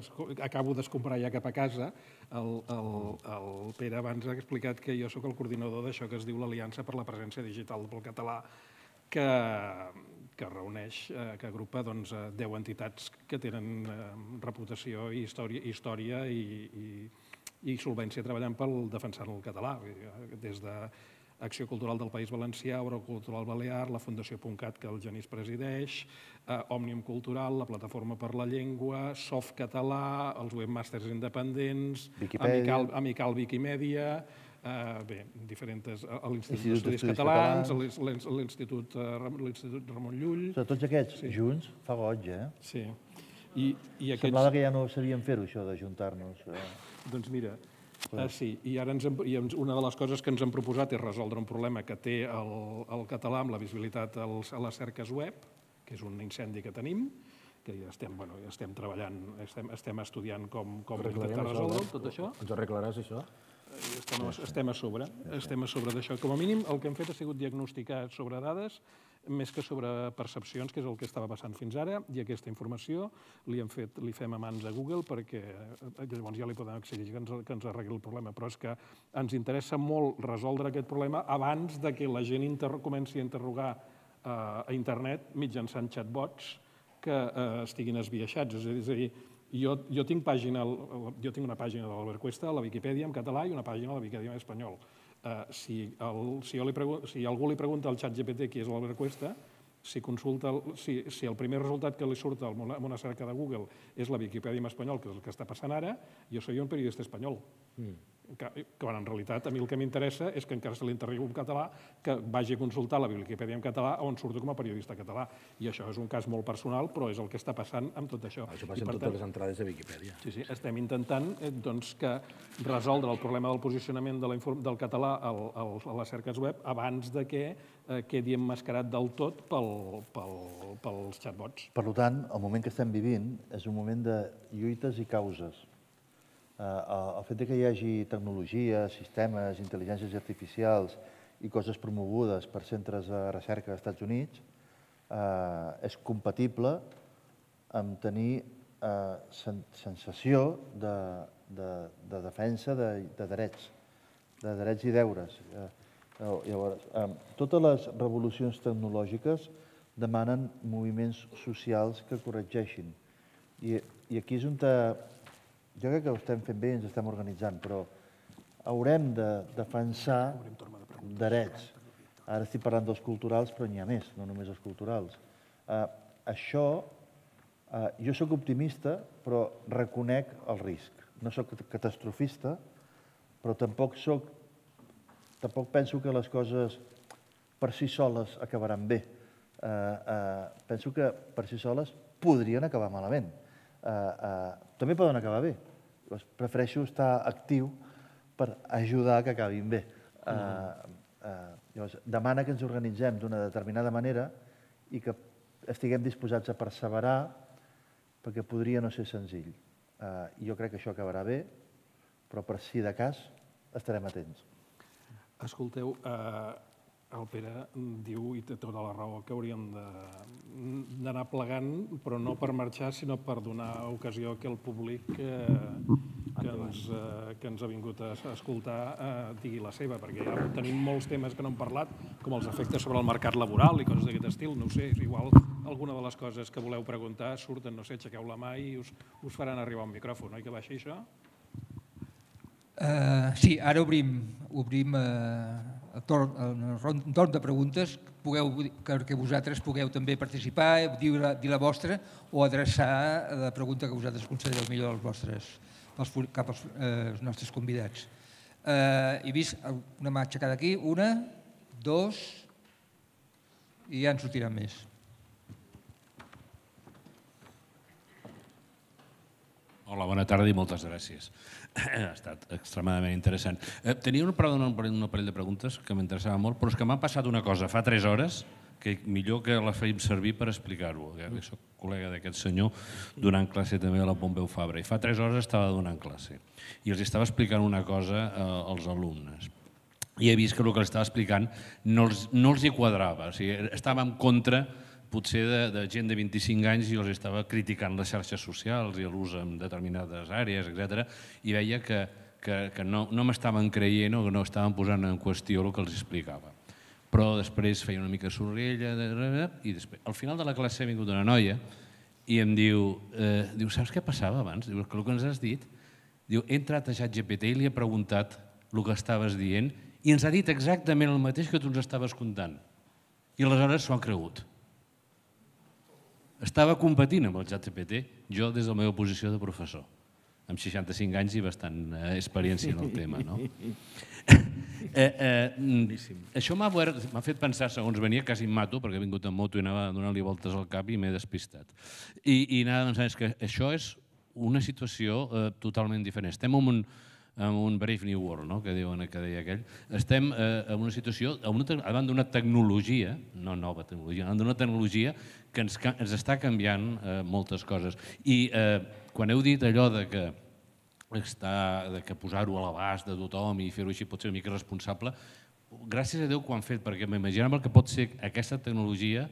acabo d'escombrar ja cap a casa. El, el, el Pere abans ha explicat que jo sóc el coordinador d'això que es diu l'Aliança per la Presència Digital pel Català, que, que reuneix, que agrupa doncs, deu entitats que tenen reputació i història, història i, i, i solvència treballant per defensar el català, des de Acció Cultural del País Valencià, Eurocultural Balear, la Fundació Puntcat, que el Genís presideix, eh, Òmnium Cultural, la Plataforma per la Llengua, Softcatalà, els webmasters independents, Amical, Amical Wikimèdia, eh, bé, diferents, l'Institut d'Estudis Catalans, l'Institut Ramon Llull... Tots aquests sí. Junts fa goig, eh? Sí. I, i aquests... Semblava que ja no sabíem fer-ho, això, d'ajuntar-nos. Eh? Doncs mira... Uh, sí, i ara ens hem, i una de les coses que ens hem proposat és resoldre un problema que té el, el català amb la visibilitat als, a les cerques web, que és un incendi que tenim, que ja estem, bueno, ja estem treballant, estem, estem estudiant com, com intentar resoldre tot això. Ens ho arreglaràs, això? Estem, estem a sobre, estem a sobre d'això. Com a mínim, el que hem fet ha sigut diagnosticar sobre dades més que sobre percepcions, que és el que estava passant fins ara, i aquesta informació li hem fet, li fem a mans a Google perquè llavors ja li podem exigir que ens, que ens arregli el problema. Però és que ens interessa molt resoldre aquest problema abans de que la gent inter comenci a interrogar eh, a internet mitjançant chatbots que eh, estiguin esbiaixats. És a dir, jo, jo, tinc pàgina, jo tinc una pàgina de l'Albert Cuesta a la Viquipèdia en català i una pàgina a la Viquipèdia en espanyol. Uh, si, el, si, jo li si algú li pregunta al xat G P T qui és l'Albert Cuesta, si, consulta el, si, si el primer resultat que li surt en una, una cerca de Google és la Viquipèdia en espanyol, que és el que està passant ara, jo soy un periodista espanyol. Mm. Que, que en realitat a mi el que m'interessa és que encara se li interrogui un català que vagi a consultar la Viquipèdia en català on surto com a periodista català. I això és un cas molt personal, però és el que està passant amb tot això. Això passa amb totes les entrades de Viquipèdia. Sí, sí, estem intentant eh, doncs, que resoldre el problema del posicionament de la, del català al, al, a les cerques web abans de que eh, quedi emmascarat del tot pel, pel, pels chatbots. Per tant, el moment que estem vivint és un moment de lluites i causes. El fet que hi hagi tecnologia, sistemes, intel·ligències artificials i coses promogudes per centres de recerca dels Estats Units és compatible amb tenir sensació de defensa de drets, de drets i deures. Llavors, totes les revolucions tecnològiques demanen moviments socials que corregeixin. I aquí és on jo crec que ho estem fent bé i ens estem organitzant, però haurem de defensar drets. Ara estic parlant dels culturals, però n'hi ha més, no només els culturals. Això, jo soc optimista, però reconec el risc. No soc catastrofista, però tampoc soc, tampoc penso que les coses per si soles acabaran bé. Penso que per si soles podrien acabar malament. També poden acabar bé. Prefereixo estar actiu per ajudar que acabin bé. Demana que ens organitzem d'una determinada manera i que estiguem disposats a perseverar perquè podria no ser senzill. Jo crec que això acabarà bé, però per si de cas estarem atents. Escolteu, el Pere diu, i té tota la raó, que hauríem d'anar plegant, però no per marxar, sinó per donar ocasió que el públic que ens ha vingut a escoltar digui la seva, perquè ja tenim molts temes que no hem parlat, com els efectes sobre el mercat laboral i coses d'aquest estil. No ho sé, igual alguna de les coses que voleu preguntar surten, no sé, aixequeu la mà i us faran arribar un micròfon, oi que va així això? Sí, ara obrim el torn de preguntes perquè vosaltres pugueu també participar, dir la vostra o adreçar la pregunta que vosaltres considereu millor cap als nostres convidats. He vist una mà aixecada aquí, una, dos, i ja en sortiran més. Hola, bona tarda i moltes gràcies. Ha estat extremadament interessant. Tenia un parell de preguntes que m'interessaven molt, però és que m'ha passat una cosa fa tres hores que millor que la fèiem servir per explicar-ho. Soc col·lega d'aquest senyor donant classe també a la Pompeu Fabra i fa tres hores estava donant classe i els estava explicant una cosa als alumnes i he vist que el que els estava explicant no els hi quadrava, estava en contra potser de gent de vint-i-cinc anys i els estava criticant les xarxes socials i l'ús en determinades àrees, etcètera, i veia que no m'estaven creient o que no estaven posant en qüestió el que els explicava. Però després feia una mica sorrella i després, al final de la classe ha vingut una noia i em diu, saps què passava abans? Diu, el que ens has dit, he entrat a ChatGPT i li he preguntat el que estaves dient i ens ha dit exactament el mateix que tu ens estaves contant. I aleshores s'ho han cregut. Estava competint amb el ChatGPT, jo des de la meva posició de professor, amb seixanta-cinc anys i bastant experiència en el tema. Això m'ha fet pensar, segons venia, quasi em mato, perquè he vingut en moto i anava donant-li voltes al cap i m'he despistat. I anava pensant que això és una situació totalment diferent. Estem en un Brave New World, que deia aquell. Estem en una situació, davant d'una tecnologia, no nova tecnologia, davant d'una tecnologia que ens està canviant moltes coses. I quan heu dit allò que posar-ho a l'abast de tothom i fer-ho així pot ser una mica responsable, gràcies a Déu que ho han fet, perquè m'imaginava el que pot ser aquesta tecnologia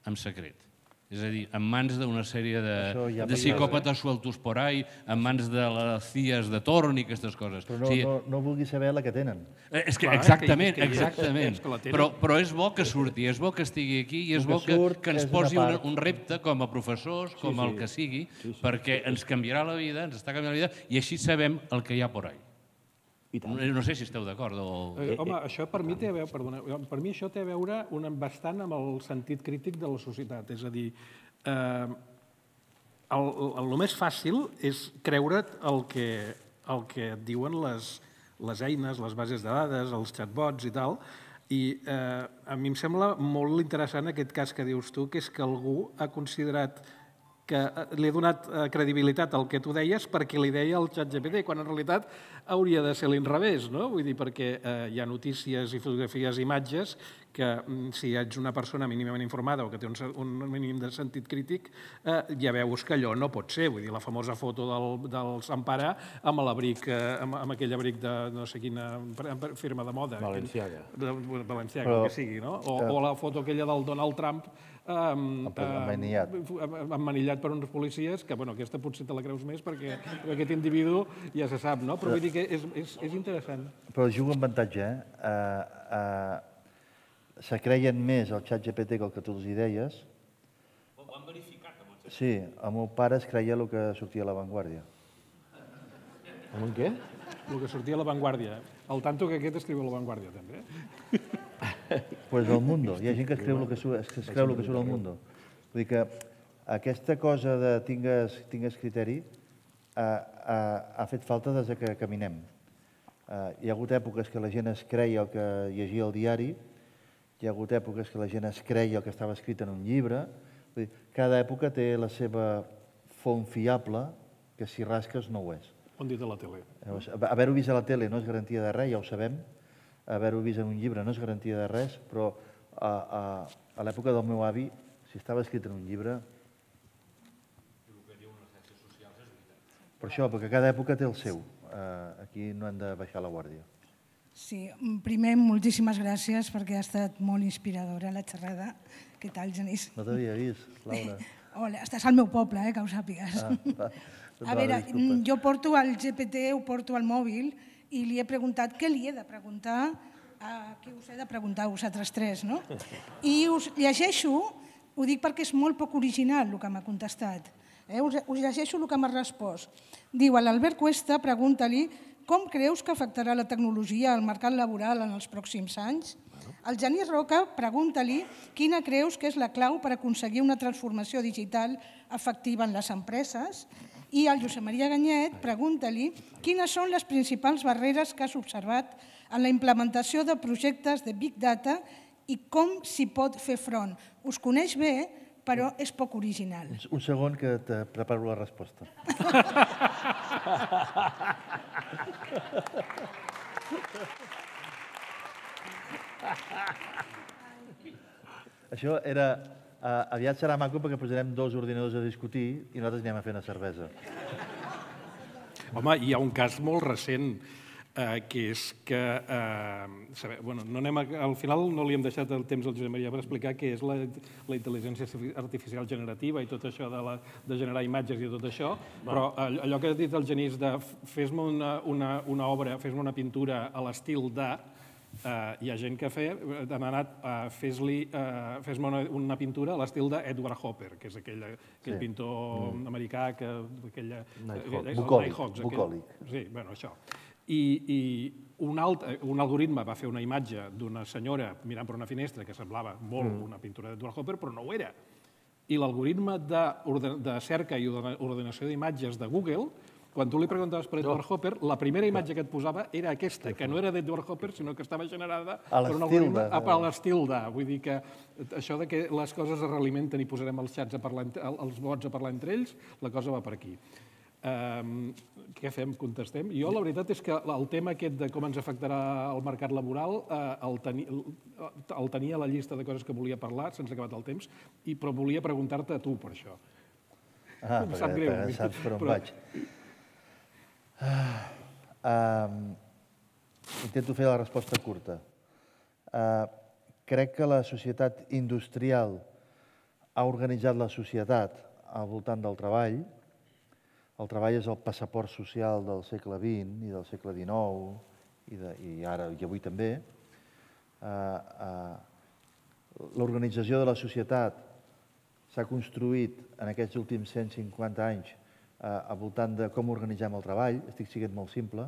en secret. És a dir, en mans d'una sèrie de psicòpates sueltos por ahí, en mans de les C I As de torn i aquestes coses. Però no vulgui saber la que tenen. Exactament, exactament. Però és bo que surti, és bo que estigui aquí i és bo que ens posi un repte com a professors, com el que sigui, perquè ens canviarà la vida, ens està canviant la vida i així sabem el que hi ha por ahí. No sé si esteu d'acord. Home, això per mi té a veure, perdona, per mi això té a veure bastant amb el sentit crític de la societat. És a dir, el més fàcil és creure't el que et diuen les eines, les bases de dades, els chatbots i tal, i a mi em sembla molt interessant aquest cas que dius tu, que és que algú ha considerat que li ha donat credibilitat al que tu deies perquè li deia el ChatGPT, quan en realitat hauria de ser l'inrevés, no? Vull dir, perquè hi ha notícies i fotografies i imatges que si ets una persona mínimament informada o que té un mínim de sentit crític, ja veus que allò no pot ser. Vull dir, la famosa foto del Sampara amb aquell abric de no sé quina firma de moda. Balenciaga. Balenciaga, el que sigui, no? O la foto aquella del Donald Trump emmanillat per uns policies, que aquesta potser te la creus més perquè aquest individu ja se sap, no? Però vull dir que és interessant. Però jugo amb avantatge, eh? se creien més el xat G P T que el que tu els hi deies. Ho han verificat amb el xat G P T? Sí, el meu pare es creia el que sortia a La Vanguardia. Amb què? El que sortia a La Vanguardia. Al tanto que aquest escriu a La Vanguardia, també. Pues El Mundo. Hi ha gent que es creu el que surt, es creu el que surt al Mundo. Vull dir que aquesta cosa de tingues, tingues criteri ha, ha, ha fet falta des que caminem. Uh, hi ha hagut èpoques que la gent es creia el que llegia al diari, hi ha hagut èpoques que la gent es creia el que estava escrit en un llibre. Vull dir, cada època té la seva font fiable, que si rasques no ho és. On dit a la tele. Haver-ho vist a la tele no és garantia de res, ja ho sabem. Haver-ho vist en un llibre no és garantia de res, però a, a, a l'època del meu avi, si estava escrit en un llibre... Per això, perquè cada època té el seu. Aquí no hem de baixar la guàrdia. Sí, primer, moltíssimes gràcies perquè ha estat molt inspiradora la xerrada. Què tal, Genís? No t'havia vist, Laura. Hola, estàs al meu poble, eh, que ho sàpigues. A veure, jo porto el G P T, ho porto al mòbil i li he preguntat què li he de preguntar, a qui us he de preguntar, a vosaltres tres, no? I us llegeixo, ho dic perquè és molt poc original el que m'ha contestat. Us llegeixo el que m'ha respost. Diu, a l'Albert Cuesta, pregunta-li com creus que afectarà la tecnologia al mercat laboral en els pròxims anys? Al Genís Roca, pregunta-li quina creus que és la clau per aconseguir una transformació digital efectiva en les empreses. I al Josep Maria Ganyet, pregunta-li quines són les principals barreres que has observat en la implementació de projectes de Big Data i com s'hi pot fer front. Us coneix bé, però és poc original. Un segon que te preparo la resposta. Això era... Aviat serà maco perquè posarem dos ordinadors a discutir i nosaltres anem a fer una cervesa. Home, hi ha un cas molt recent, que és que... Al final no li hem deixat el temps al Josep Maria per explicar què és la intel·ligència artificial generativa i tot això de generar imatges i tot això, però allò que ha dit el Genís de fes-me una obra, fes-me una pintura a l'estil de... Hi ha gent que ha demanat fes-me una pintura a l'estil d'Edward Hopper, que és aquell pintor americà que... Bucòlic. Sí, bueno, això. I un algoritme va fer una imatge d'una senyora mirant per una finestra que semblava molt una pintura d'Edward Hopper, però no ho era. I l'algoritme de cerca i ordenació d'imatges de Google, quan tu li preguntaves per Edward Hopper, la primera imatge que et posava era aquesta, que no era d'Edward Hopper, sinó que estava generada per un algoritme a l'estil de. Vull dir que això de que les coses es realimenten i posarem els xats, els bots a parlar entre ells, la cosa va per aquí. Què fem? Contestem? Jo la veritat és que el tema aquest de com ens afectarà el mercat laboral el tenia a la llista de coses que volia parlar, se'ns ha acabat el temps, però volia preguntar-te a tu per això. Ah, perquè saps per on vaig. Intento fer la resposta curta. Crec que la societat industrial ha organitzat la societat al voltant del treball. El treball és el passaport social del segle vint i del segle dinou i ara i avui també. L'organització de la societat s'ha construït en aquests últims cent cinquanta anys al voltant de com organitzem el treball. Estic sent molt simple.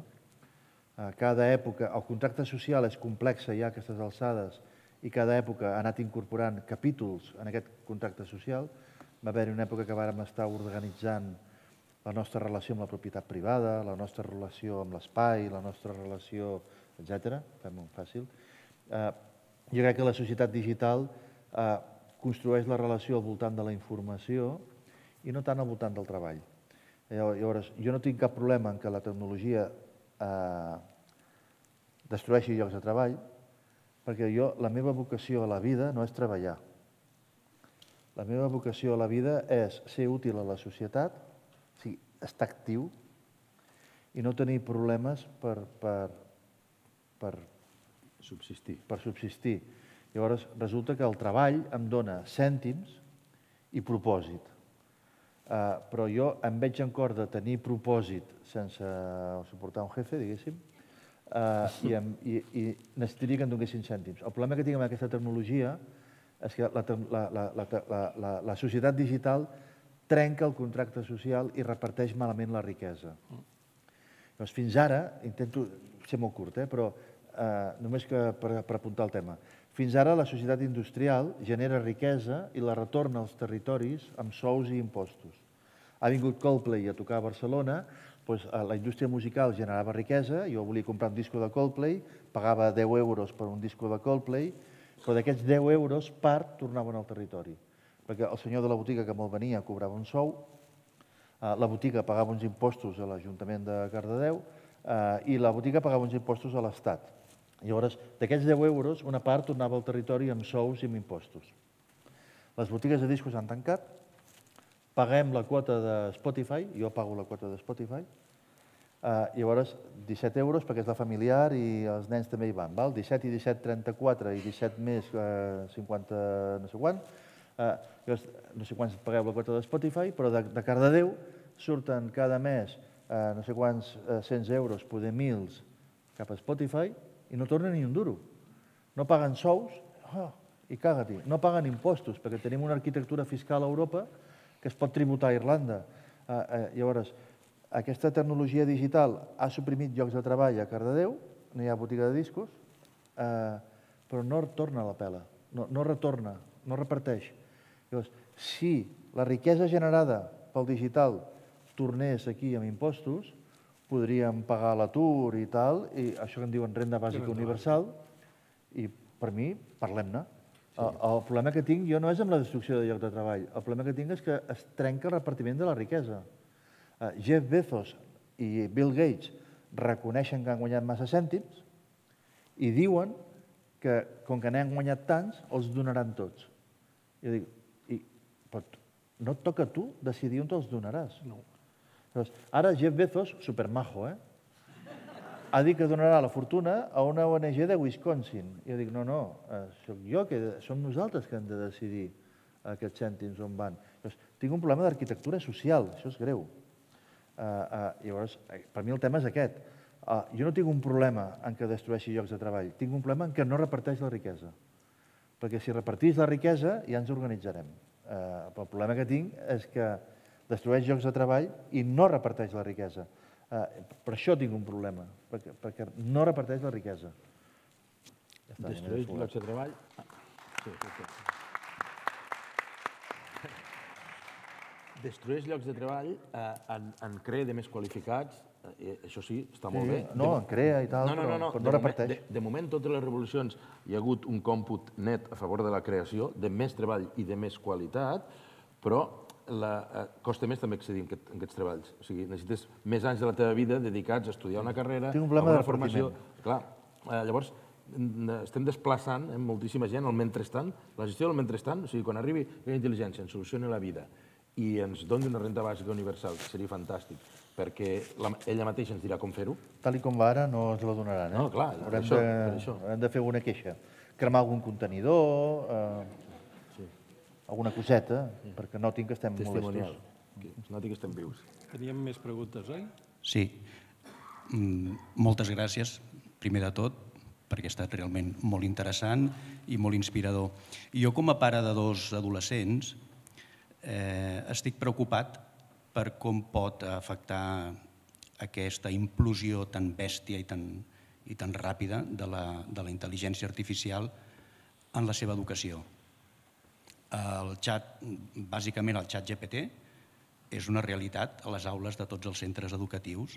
Cada època, el contracte social és complex ja a aquestes alçades i cada època ha anat incorporant capítols en aquest contracte social. Va haver-hi una època que vàrem estar organitzant la nostra relació amb la propietat privada, la nostra relació amb l'espai, la nostra relació, etcètera. Fem-ho fàcil. Jo crec que la societat digital construeix la relació al voltant de la informació i no tant al voltant del treball. Llavors, jo no tinc cap problema en que la tecnologia destrueixi llocs de treball, perquè jo, la meva vocació a la vida no és treballar. La meva vocació a la vida és ser útil a la societat, o sigui, estar actiu i no tenir problemes per subsistir. Llavors, resulta que el treball em dona cèntims i propòsit. Però jo em veig en cor de tenir propòsit sense suportar un jefe, diguéssim, i necessitaria que em donessin cèntims. El problema que tinc amb aquesta tecnologia és que la societat digital trenca el contracte social i reparteix malament la riquesa. Fins ara, intento ser molt curt, però només per apuntar el tema, fins ara la societat industrial genera riquesa i la retorna als territoris amb sous i impostos. Ha vingut Coldplay a tocar a Barcelona, la indústria musical generava riquesa, jo volia comprar un disco de Coldplay, pagava deu euros per un disco de Coldplay, però d'aquests deu euros, part tornaven al territori. Perquè el senyor de la botiga que me'l venia cobrava un sou, la botiga pagava uns impostos a l'Ajuntament de Cardedeu i la botiga pagava uns impostos a l'Estat. Llavors, d'aquests deu euros, una part tornava al territori amb sous i amb impostos. Les botigues de discos han tancat, paguem la quota de Spotify, jo pago la quota de Spotify, llavors disset euros perquè és la familiar i els nens també hi van, disset i disset, trenta-quatre i disset més cinquanta no sé quant, no sé quants pagueu la quota de Spotify, però de Cardedeu surten cada mes no sé quants cents euros, poder mils, cap a Spotify i no torna ni un duro. No paguen sous i caga-t'hi. No paguen impostos perquè tenim una arquitectura fiscal a Europa que es pot tributar a Irlanda. Llavors, aquesta tecnologia digital ha suprimit llocs de treball a Cardedeu, no hi ha botiga de discos, però no torna la pela, no retorna, no reparteix. Llavors, si la riquesa generada pel digital tornés aquí amb impostos, podríem pagar l'atur i tal, i això que en diuen renda bàsica universal, i per mi, parlem-ne. El problema que tinc jo no és amb la destrucció de lloc de treball, el problema que tinc és que es trenca el repartiment de la riquesa. Jeff Bezos i Bill Gates reconeixen que han guanyat massa cèntims i diuen que, com que n'han guanyat tants, els donaran tots. Jo dic, no et toca a tu decidir on te'ls donaràs. Ara Jeff Bezos, supermajo, ha dit que donarà la fortuna a una O N G de Wisconsin. Jo dic, no, no, soc jo, som nosaltres que hem de decidir aquests cèntims on van. Tinc un problema d'arquitectura social, això és greu. Llavors, per mi el tema és aquest. Jo no tinc un problema en què destrueixi llocs de treball, tinc un problema en què no reparteix la riquesa. Perquè si repartís la riquesa ja ens organitzarem. El problema que tinc és que destrueix llocs de treball i no reparteix la riquesa. Per això tinc un problema, perquè no reparteix la riquesa. Destrueix llocs de treball? Destrueix llocs de treball, en crea de més qualificats, això sí, està molt bé. No, en crea i tal, però no reparteix. De moment, totes les revolucions hi ha hagut un còmput net a favor de la creació, de més treball i de més qualitat, però costa més també accedir a aquests treballs. O sigui, necessites més anys de la teva vida dedicats a estudiar una carrera, a una formació. Clar, llavors estem desplaçant moltíssima gent al mentrestant, la gestió del mentrestant, o sigui, quan arribi la intel·ligència, ens solucioni la vida i ens doni una renda bàsica universal, seria fantàstic, perquè ella mateixa ens dirà com fer-ho. Tal com va ara no ens la donaran, eh? No, clar, per això. Haurem de fer una queixa. Cremar algun contenidor, alguna coseta, perquè noti que estem molestos. Noti que estem vius. Teníem més preguntes, oi? Sí. Moltes gràcies, primer de tot, perquè ha estat realment molt interessant i molt inspirador. Jo, com a pare de dos adolescents, estic preocupat per com pot afectar aquesta implosió tan bèstia i tan ràpida de la intel·ligència artificial en la seva educació. El xat, bàsicament el xat G P T, és una realitat a les aules de tots els centres educatius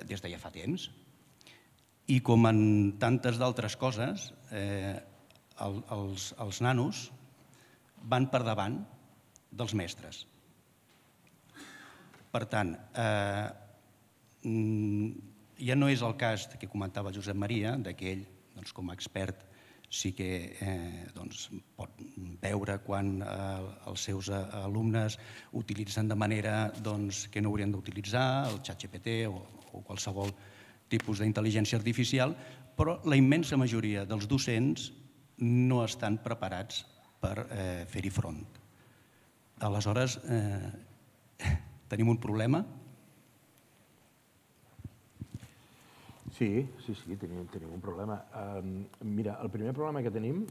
des de ja fa temps. I com en tantes d'altres coses, els nanos van per davant dels mestres. Per tant, ja no és el cas que comentava Josep Maria, que ell, com a expert, sí que pot veure quan els seus alumnes utilitzen de manera que no haurien d'utilitzar, el xat G P T o qualsevol tipus d'intel·ligència artificial, però la immensa majoria dels docents no estan preparats per fer-hi front. Aleshores, tenim un problema? Sí, sí, sí, tenim, tenim un problema. Um, mira, el primer problema que tenim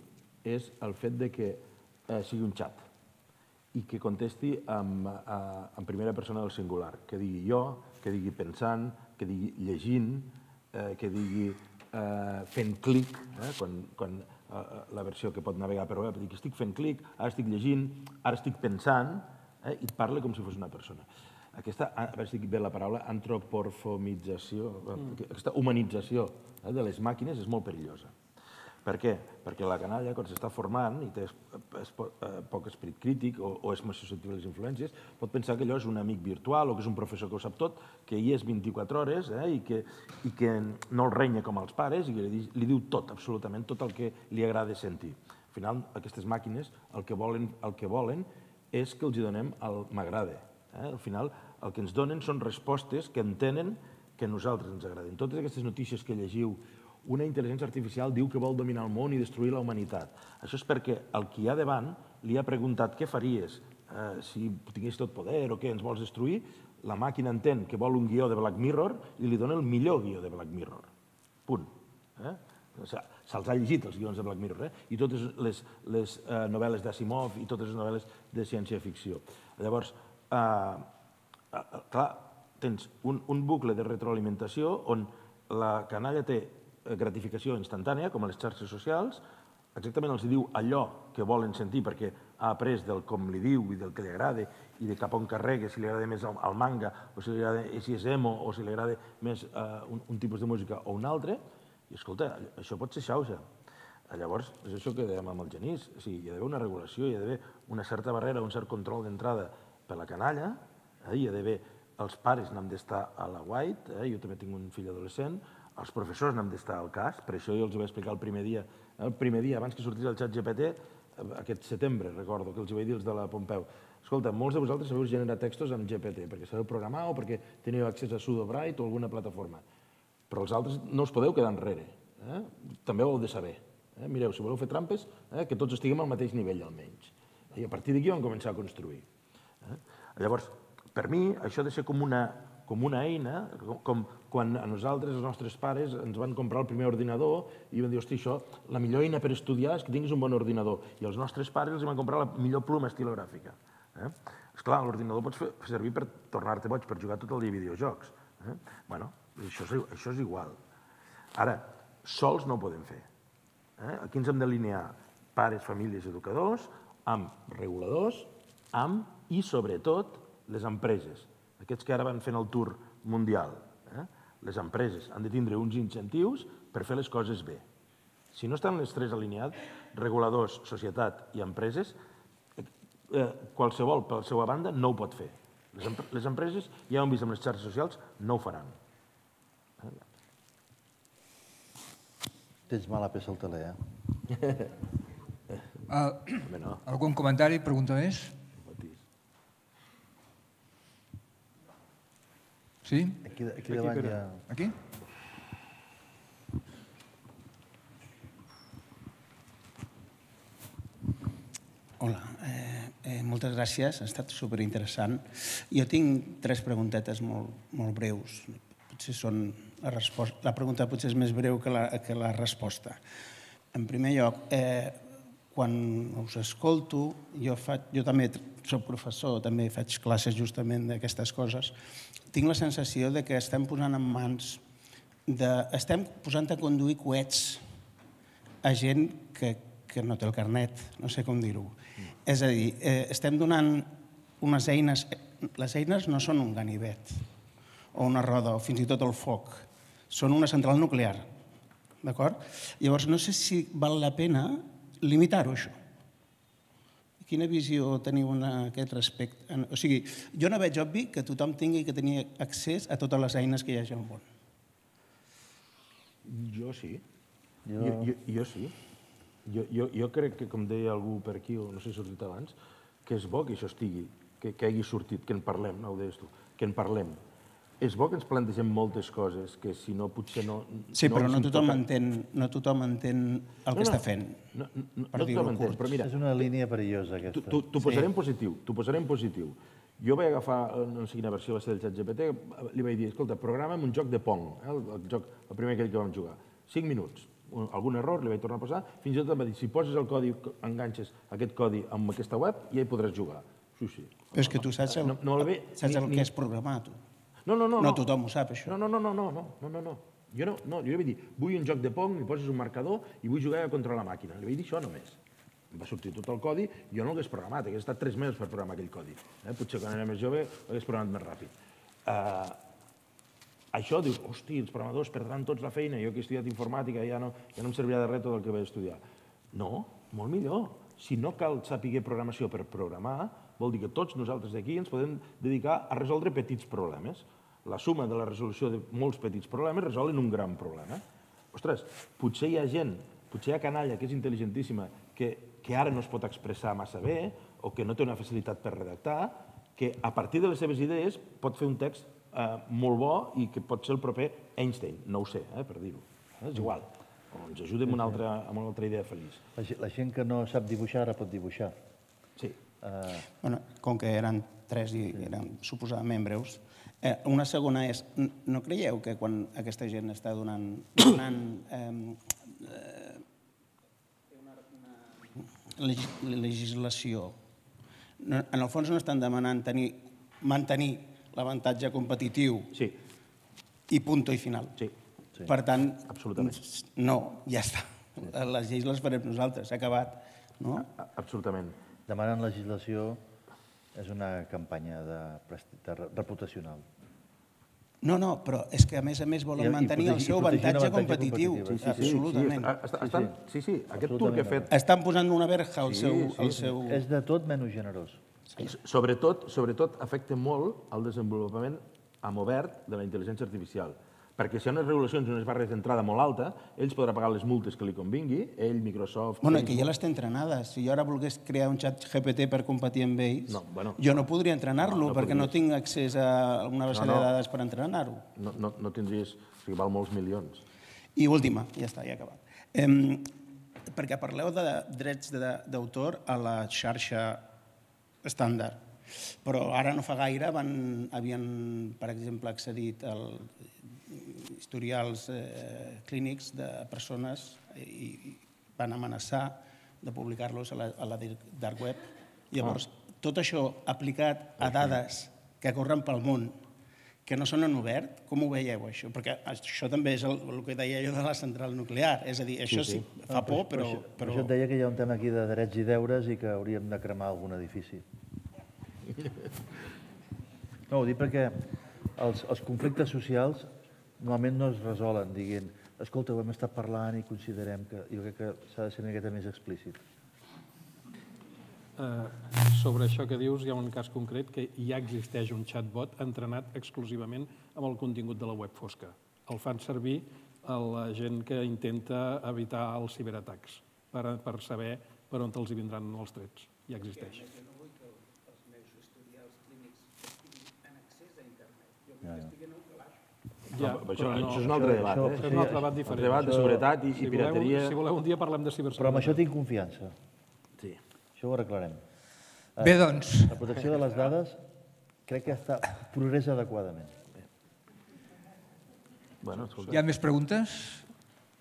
és el fet de que eh, sigui un xat i que contesti en, en primera persona del singular, que digui jo, que digui pensant, que digui llegint, eh, que digui eh, fent clic, eh, quan, quan eh, la versió que pot navegar per web, que estic fent clic, ara estic llegint, ara estic pensant, eh, i et parla com si fos una persona. Aquesta, a veure si dic bé la paraula, antropomorfització, aquesta humanització de les màquines és molt perillosa. Per què? Perquè la canalla, quan s'està formant i té poc esperit crític o és més susceptible a les influències, pot pensar que allò és un amic virtual o que és un professor que ho sap tot, que hi és vint-i-quatre hores i que no el renya com els pares i li diu tot, absolutament, tot el que li agrada sentir. Al final, aquestes màquines el que volen és que els donem el m'agrada. Al final, el que ens donen són respostes que entenen que a nosaltres ens agraden. Totes aquestes notícies que llegiu, una intel·ligència artificial diu que vol dominar el món i destruir la humanitat. Això és perquè el qui hi ha davant li ha preguntat què faries si tingués tot poder o què, ens vols destruir? La màquina entén que vol un guió de Black Mirror i li dona el millor guió de Black Mirror. Punt. Se'ls ha llegit, els guions de Black Mirror, i totes les novel·les d'Asimov i totes les novel·les de ciència-ficció. Llavors, clar, tens un bucle de retroalimentació on la canalla té gratificació instantània, com a les xarxes socials, exactament els diu allò que volen sentir perquè ha après del com li diu i del que li agrada i de cap on carrega, si li agrada més el manga o si és emo o si li agrada més un tipus de música o un altre, i escolta, això pot ser xauxa. Llavors, és això que dèiem amb el Genís, hi ha d'haver una regulació, hi ha d'haver una certa barrera, un cert control d'entrada per la canalla, hi ha d'haver, els pares n'han d'estar a la white, jo també tinc un fill adolescent, els professors n'han d'estar al cas, per això jo els vaig explicar el primer dia, el primer dia abans que sortís el xat G P T, aquest setembre, recordo, que els vaig dir els de la Pompeu, escolta, molts de vosaltres sabeu generar textos amb G P T, perquè sabeu programar o perquè teniu accés a Sudobright o alguna plataforma, però els altres no us podeu quedar enrere, també ho heu de saber. Mireu, si voleu fer trampes, que tots estiguem al mateix nivell almenys. I a partir d'aquí vam començar a construir. Llavors, per mi, això ha de ser com una eina, com quan a nosaltres, els nostres pares, ens van comprar el primer ordinador i van dir, hosti, això, la millor eina per estudiar és que tinguis un bon ordinador. I els nostres pares els van comprar la millor pluma estilogràfica. Esclar, l'ordinador pots fer servir per tornar-te boig, per jugar tot el dia a videojocs. Bé, això és igual. Ara, sols no ho podem fer. Aquí ens hem d'alinear pares, famílies, educadors, amb reguladors, amb i, sobretot, les empreses. Aquests que ara van fent el tour mundial. Les empreses han de tindre uns incentius per fer les coses bé. Si no estan les tres alineats, reguladors, societat i empreses, qualsevol, per la seva banda, no ho pot fer. Les empreses, ja ho hem vist amb les xarxes socials, no ho faran. Tens mala peça al teler, eh? Algun comentari, pregunta més? Sí? Aquí davant hi ha... Aquí? Hola, moltes gràcies, ha estat superinteressant. Jo tinc tres preguntetes molt breus. Potser són la resposta... La pregunta potser és més breu que la resposta. En primer lloc, quan us escolto, jo també soc professor, també faig classes justament d'aquestes coses, tinc la sensació que estem posant en mans, estem posant a conduir coets a gent que no té el carnet, no sé com dir-ho. És a dir, estem donant unes eines, les eines no són un ganivet, o una roda, o fins i tot el foc, són una central nuclear, d'acord? Llavors, no sé si val la pena limitar-ho, això. Quina visió teniu en aquest respecte? O sigui, jo no veig obvi que tothom tingui que tenir accés a totes les eines que hi hagi al món. Jo sí. Jo sí. Jo crec que, com deia algú per aquí, o no sé si ha sortit abans, que és bo que això estigui, que hagi sortit, que en parlem, no ho deies tu, que en parlem. És bo que ens plantegem moltes coses que si no potser no... Sí, però no tothom entén el que està fent. No tothom entén, però mira... És una línia perillosa aquesta. T'ho posaré en positiu, t'ho posaré en positiu. Jo vaig agafar, no sé quina versió va ser del ChatGPT, li vaig dir, escolta, programa'm un joc de Pong, el primer aquell que vam jugar. Cinc minuts, algun error, li vaig tornar a passar, fins i tot em va dir, si poses el codi, enganxes aquest codi amb aquesta web, ja hi podràs jugar. Sí, sí. Però és que tu saps el que és programar, tu. No, no, no. No tothom ho sap, això. No, no, no, no, no, no, no. Jo no, jo li vaig dir, vull un joc de Pong, li poses un marcador i vull jugar contra la màquina. Li vaig dir això només. Em va sortir tot el codi, jo no l'hagués programat, hagués estat tres mesos per programar aquell codi. Potser quan era més jove l'hagués programat més ràpid. Això, dius, hosti, els programadors perdran tots la feina, jo que he estudiat informàtica ja no em servirà de res tot el que vaig estudiar. No, molt millor. Si no cal saber programació per programar, vol dir que tots nosaltres d'aquí ens podem dedicar a resoldre petits problemes. La suma de la resolució de molts petits problemes resolen un gran problema. Ostres, potser hi ha gent, potser hi ha canalla que és intel·ligentíssima, que ara no es pot expressar massa bé o que no té una facilitat per redactar, que a partir de les seves idees pot fer un text molt bo i que pot ser el proper Einstein, no ho sé, per dir-ho. És igual, ens ajuda amb una altra idea feliç. La gent que no sap dibuixar ara pot dibuixar. Sí. Com que eren tres i eren suposadament breus, una segona és, no creieu que quan aquesta gent està donant legislació, en el fons no estan demanant mantenir l'avantatge competitiu i punt i final. Per tant, no, ja està. Les lleis les farem nosaltres, s'ha acabat. Absolutament. Demanen legislació és una campanya reputacional. No, no, però és que a més a més volen mantenir el seu avantatge competitiu. Absolutament. Sí, sí, aquest tour que he fet... Estan posant una verja al seu... És de tot menys generós. Sobretot afecta molt el desenvolupament amb obert de la intel·ligència artificial. Perquè si hi ha unes regulacions i unes barres d'entrada molt alta, ells podrà pagar les multes que li convingui, ell, Microsoft... Bueno, que ja les té entrenades. Si jo ara volgués crear un xat G P T per competir amb ells, jo no podria entrenar-lo perquè no tinc accés a una base de dades per entrenar-ho. No tindries... O sigui, val molts milions. I última, ja està, ja he acabat. Perquè parleu de drets d'autor a la xarxa estàndard. Però ara no fa gaire havien, per exemple, accedit al historials clínics de persones i van amenaçar de publicar-los a la dark web. Llavors, tot això aplicat a dades que corren pel món, que no són en obert, com ho veieu, això? Perquè això també és el que deia jo de la central nuclear. És a dir, això sí, fa por, però... Per això et deia que hi ha un tema aquí de drets i deures i que hauríem de cremar algun edifici. No, ho dic perquè els conflictes socials normalment no es resolen dient, escolta, ho hem estat parlant i considerem que... Jo crec que s'ha de ser una miqueta més explícit. Sobre això que dius, hi ha un cas concret que ja existeix un chatbot entrenat exclusivament amb el contingut de la web fosca. El fan servir a la gent que intenta evitar els ciberatacs per saber per on els hi vindran els trets. Ja existeix. No vull que els meus historials clínics tinguin accés a internet. Jo vull que estigui en un calaix. Això és un altre debat. És un altre debat diferent. Un debat de seguretat i pirateria. Si voleu, un dia parlem de ciberseguretat. Però amb això tinc confiança. Sí. Això ho arreglarem. Bé, doncs... La protecció de les dades crec que està progressa adequadament. Hi ha més preguntes?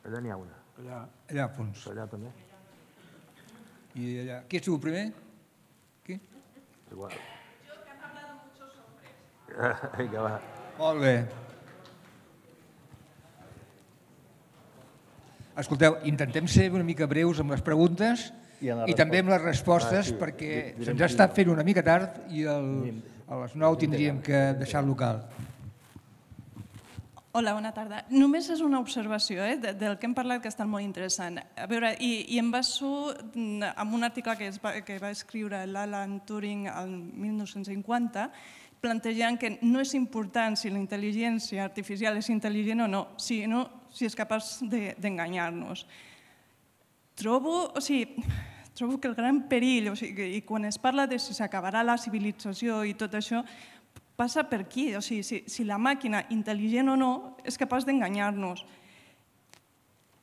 Allà n'hi ha una. Allà, a fons. Allà també. I allà... Qui ha sigut primer? Qui? Igual. Jo, que han hablado muchos hombres. Vinga, va. Molt bé. Escolteu, intentem ser una mica breus amb les preguntes i també amb les respostes perquè se'ns ha estat fent una mica tard i a les nou tindríem que deixar el local. Hola, bona tarda. Només és una observació del que hem parlat que ha estat molt interessant. A veure, i em baso en un article que va escriure l'Alan Turing el mil nou-cents cinquanta plantejant que no és important si la intel·ligència artificial és intel·ligent o no, sinó si és capaç d'enganyar-nos. Trobo, o sigui, trobo que el gran perill, o sigui, i quan es parla de si s'acabarà la civilització i tot això, passa per aquí, o sigui, si la màquina, intel·ligent o no, és capaç d'enganyar-nos.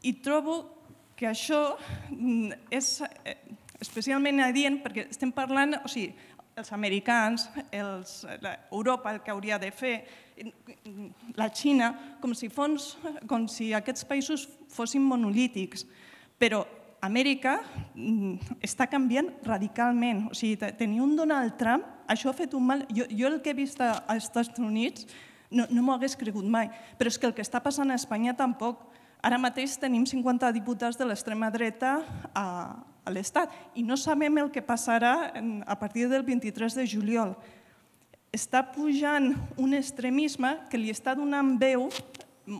I trobo que això és especialment adient perquè estem parlant, o sigui, els americans, Europa el que hauria de fer, la Xina, com si aquests països fossin monolítics. Però Amèrica està canviant radicalment. O sigui, tenir un Donald Trump, això ha fet un mal... Jo el que he vist als Estats Units no m'ho hagués cregut mai, però és que el que està passant a Espanya tampoc. Ara mateix tenim cinquanta diputats de l'extrema dreta a l'Estat i no sabem el que passarà a partir del vint-i-tres de juliol. Està pujant un extremisme que li està donant veu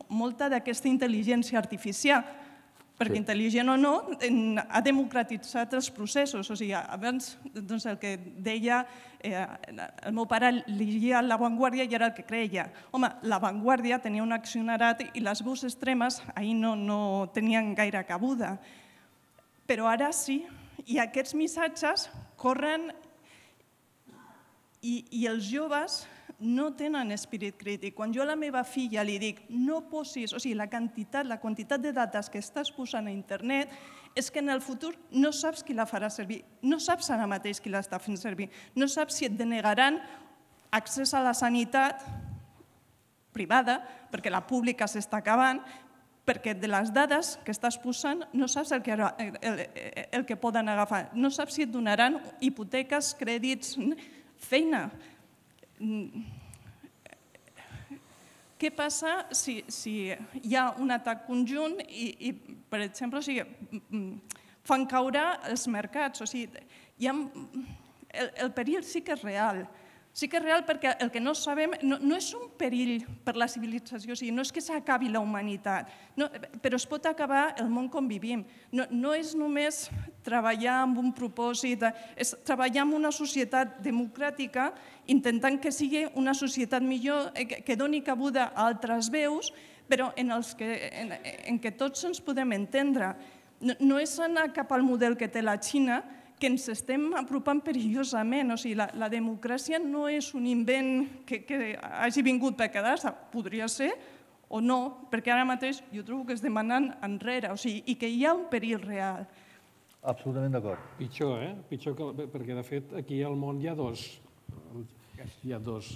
molta d'aquesta intel·ligència artificial, perquè intel·ligent o no, ha democratitzat els processos. O sigui, abans el que deia, el meu pare llegia La Vanguardia i era el que creia. Home, La Vanguardia tenia un accionarat i les veus extremes ahir no tenien gaire cabuda. Però ara sí, i aquests missatges corren i els joves no tenen esperit crític. Quan jo a la meva filla li dic no posis, o sigui, la quantitat, la quantitat de dades que estàs posant a internet és que en el futur no saps qui la farà servir, no saps ara mateix qui l'està fent servir, no saps si et denegaran accés a la sanitat privada, perquè la pública s'està acabant, perquè de les dades que estàs posant no saps el que poden agafar, no saps si et donaran hipoteques, crèdits, feina. Què passa si hi ha un atac conjunt i, per exemple, fan caure els mercats? El perill sí que és real. Sí que és real perquè el que no sabem no és un perill per la civilització, no és que s'acabi la humanitat, però es pot acabar el món com vivim. No és només treballar amb un propòsit, és treballar en una societat democràtica intentant que sigui una societat millor, que doni cabuda a altres veus, però en què tots ens podem entendre. No és anar cap al model que té la Xina, que ens estem apropant perillosament. O sigui, la democràcia no és un invent que hagi vingut per quedar-se. Podria ser o no, perquè ara mateix jo trobo que es demanen enrere, i que hi ha un perill real. Absolutament d'acord. Pitjor, eh? Pitjor, perquè de fet aquí al món hi ha dos, hi ha dos,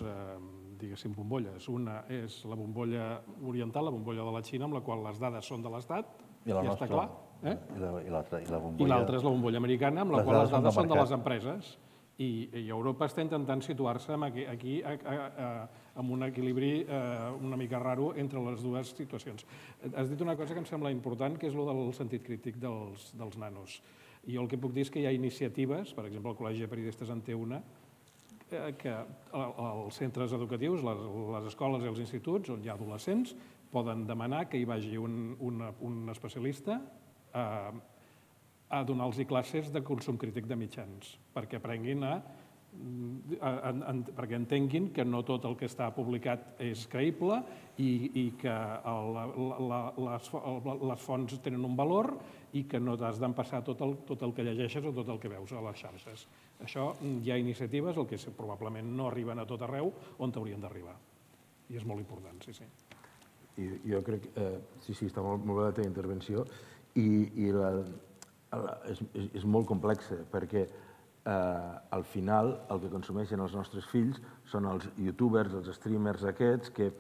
diguéssim, bombolles. Una és la bombolla oriental, la bombolla de la Xina, amb la qual les dades són de l'Estat, ja està clar. I l'altra és la bombolla americana, amb la qual les dades són de les empreses. I Europa està intentant situar-se aquí amb un equilibri una mica raro entre les dues situacions. Has dit una cosa que em sembla important, que és el del sentit crític dels nanos. I jo el que puc dir és que hi ha iniciatives, per exemple, el Col·legi de Periodistes en té una, que els centres educatius, les escoles i els instituts, on hi ha adolescents, poden demanar que hi vagi un especialista a donar-los classes de consum crític de mitjans, perquè aprenguin a... perquè entenguin que no tot el que està publicat és creïble i que les fonts tenen un valor i que no t'has d'empassar tot el que llegeixes o tot el que veus a les xarxes. Això hi ha iniciatives, el que probablement no arriben a tot arreu, on haurien d'arribar. I és molt important, sí, sí. Jo crec que, sí, sí, està molt bé la teva intervenció i és molt complex perquè al final el que consumeixen els nostres fills són els youtubers, els streamers aquests que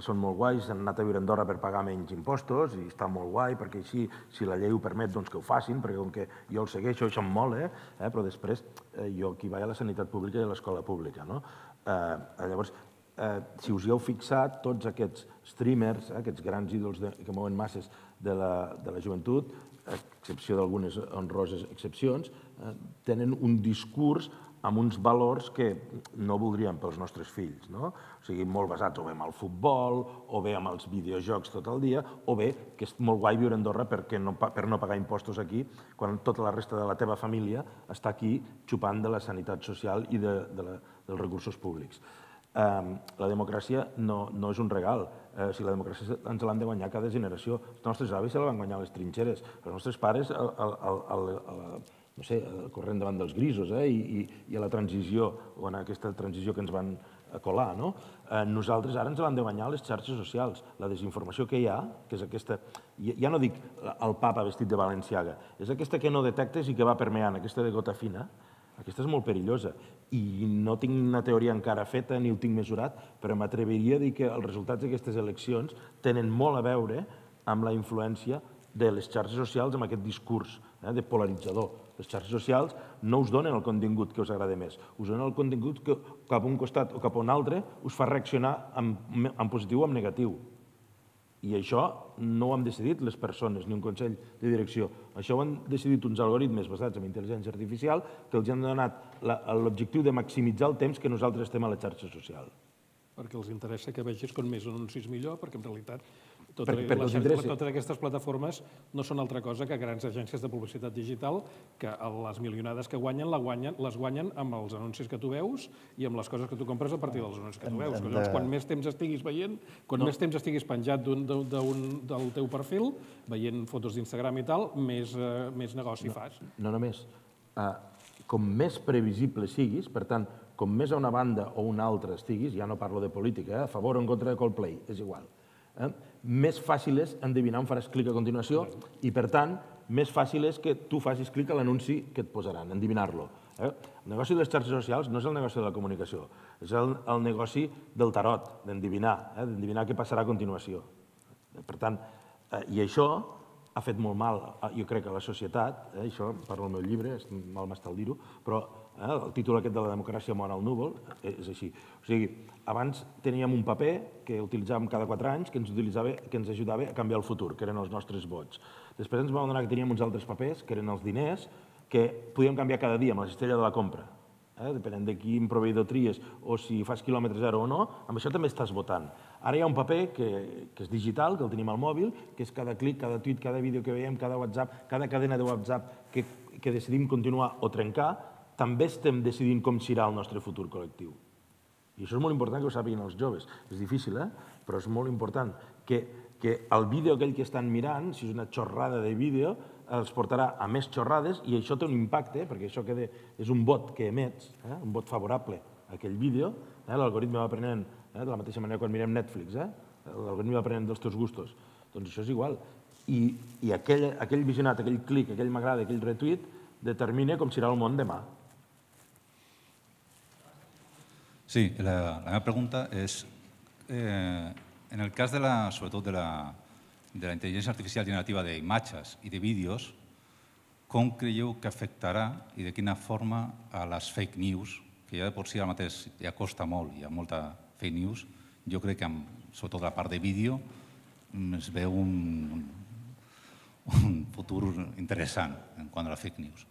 són molt guais, han anat a viure a Andorra per pagar menys impostos i està molt guai perquè així, si la llei ho permet, doncs que ho facin, perquè com que jo el segueixo, això em mola, però després jo aquí vaig a la sanitat pública i a l'escola pública. Llavors, si us hi heu fixat, tots aquests streamers, aquests grans ídols que mouen masses de la joventut, a excepció d'algunes honroses excepcions, tenen un discurs amb uns valors que no voldríem pels nostres fills, no? O sigui, molt basats o bé en el futbol, o bé en els videojocs tot el dia, o bé que és molt guai viure a Andorra per no pagar impostos aquí, quan tota la resta de la teva família està aquí xupant de la sanitat social i dels recursos públics. La democràcia no és un regal. La democràcia ens l'han de guanyar cada generació. Els nostres avis se la van guanyar a les trinxeres. Els nostres pares, no sé, corrent davant dels grisos i a la transició, o en aquesta transició que ens van colar. Nosaltres ara ens l'han de guanyar a les xarxes socials. La desinformació que hi ha, que és aquesta... Ja no dic el papa vestit de Balenciaga, és aquesta que no detectes i que va permeant, aquesta de gota fina, Aquesta és molt perillosa. I no tinc una teoria encara feta ni ho tinc mesurat, però m'atreviria a dir que els resultats d'aquestes eleccions tenen molt a veure amb la influència de les xarxes socials amb aquest discurs de polaritzador. Les xarxes socials no us donen el contingut que us agrada més, us donen el contingut que cap a un costat o cap a un altre us fa reaccionar en positiu o en negatiu. I això no ho han decidit les persones ni un consell de direcció. Això ho han decidit uns algoritmes basats en intel·ligència artificial que els han donat l'objectiu de maximitzar el temps que nosaltres estem a la xarxa social. Perquè els interessa que vegis com més anuncis millor, perquè en realitat totes aquestes plataformes no són altra cosa que grans agències de publicitat digital que les milionades que guanyen les guanyen amb els anuncis que tu veus i amb les coses que tu compres a partir dels anuncis que tu veus. Llavors, quan més temps estiguis veient, quan més temps estiguis penjat del teu perfil, veient fotos d'Instagram i tal, més negoci fas. No només. Com més previsible siguis, per tant, com més a una banda o una altra estiguis, ja no parlo de política, a favor o en contra de Coldplay, és igual, més fàcil és endevinar on faràs clic a continuació i, per tant, més fàcil és que tu facis clic a l'anunci que et posaran, endevinar-lo. El negoci de les xarxes socials no és el negoci de la comunicació, és el negoci del tarot, d'endevinar, d'endevinar què passarà a continuació. Per tant, i això ha fet molt mal, jo crec, a la societat, això parlo al meu llibre, mal m'està el dir-ho, però el títol aquest de la democràcia mor al núvol és així. O sigui, abans teníem un paper que utilitzàvem cada quatre anys que ens ajudava a canviar el futur, que eren els nostres vots. Després ens vam adonar que teníem uns altres papers, que eren els diners, que podíem canviar cada dia amb la cistella de la compra. Depenent de quin proveïdor tries o si fas quilòmetre zero o no, amb això també estàs votant. Ara hi ha un paper que és digital, que el tenim al mòbil, que és cada clic, cada tuit, cada vídeo que veiem, cada WhatsApp, cada cadena de WhatsApp que decidim continuar o trencar, també estem decidint com serà el nostre futur col·lectiu. I això és molt important que ho sàpiguen els joves. És difícil, eh? Però és molt important que el vídeo aquell que estan mirant, si és una xorrada de vídeo, els portarà a més xorrades i això té un impacte, perquè això és un vot que emets, un vot favorable a aquell vídeo. L'algoritme va aprenent, de la mateixa manera quan mirem Netflix, l'algoritme va aprenent dels teus gustos. Doncs això és igual. I aquell visionat, aquell clic, aquell m'agrada, aquell retweet, determina com serà el món demà. Sí, la meva pregunta és, en el cas, sobretot, de la intel·ligència artificial generativa d'imatges i de vídeos, com creieu que afectarà i de quina forma a les fake news, que ja de per si ara mateix ja costa molt, hi ha molta fake news, jo crec que, sobretot la part de vídeo, es veu un futur interessant en quant a la fake news.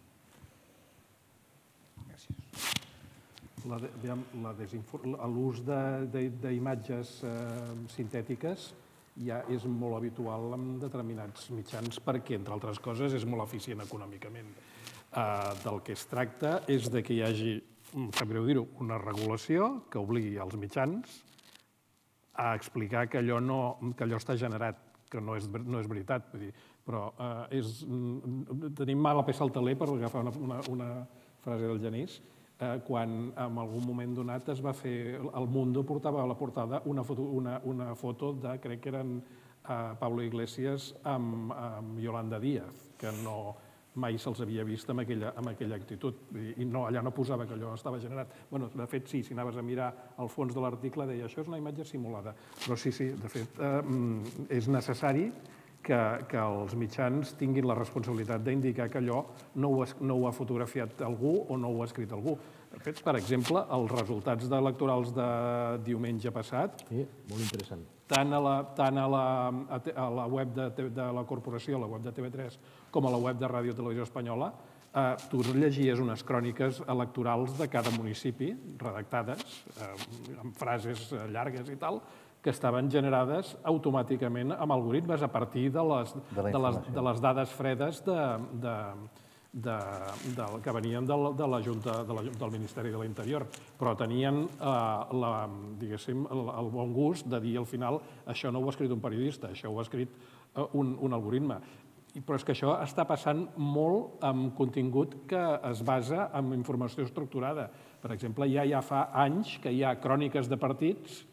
L'ús d'imatges sintètiques ja és molt habitual en determinats mitjans perquè, entre altres coses, és molt eficient econòmicament. Del que es tracta és que hi hagi, em sap greu dir-ho, una regulació que obligui els mitjans a explicar que allò està generat, que no és veritat, però tenim mala peça al teler, per agafar una frase del Genís, quan en algun moment donat es va fer, el Mundo portava a la portada una foto de, crec que eren Pablo Iglesias amb Yolanda Díaz, que mai se'ls havia vist amb aquella actitud. I allà no posava que allò estava generat. De fet, sí, si anaves a mirar al fons de l'article, deia això és una imatge simulada. Però sí, sí, de fet, és necessari que els mitjans tinguin la responsabilitat d'indicar que allò no ho ha fotografiat algú o no ho ha escrit algú. De fet, per exemple, els resultats electorals de diumenge passat, tant a la web de la corporació, a la web de T V tres, com a la web de Ràdio Televisió Espanyola, tu llegies unes cròniques electorals de cada municipi, redactades, amb frases llargues i tal, que estaven generades automàticament amb algoritmes a partir de les dades fredes que venien de la Junta del Ministeri de l'Interior, però tenien el bon gust de dir al final això no ho ha escrit un periodista, això ho ha escrit un algoritme. Però és que això està passant molt amb contingut que es basa en informació estructurada. Per exemple, ja fa anys que hi ha cròniques de partits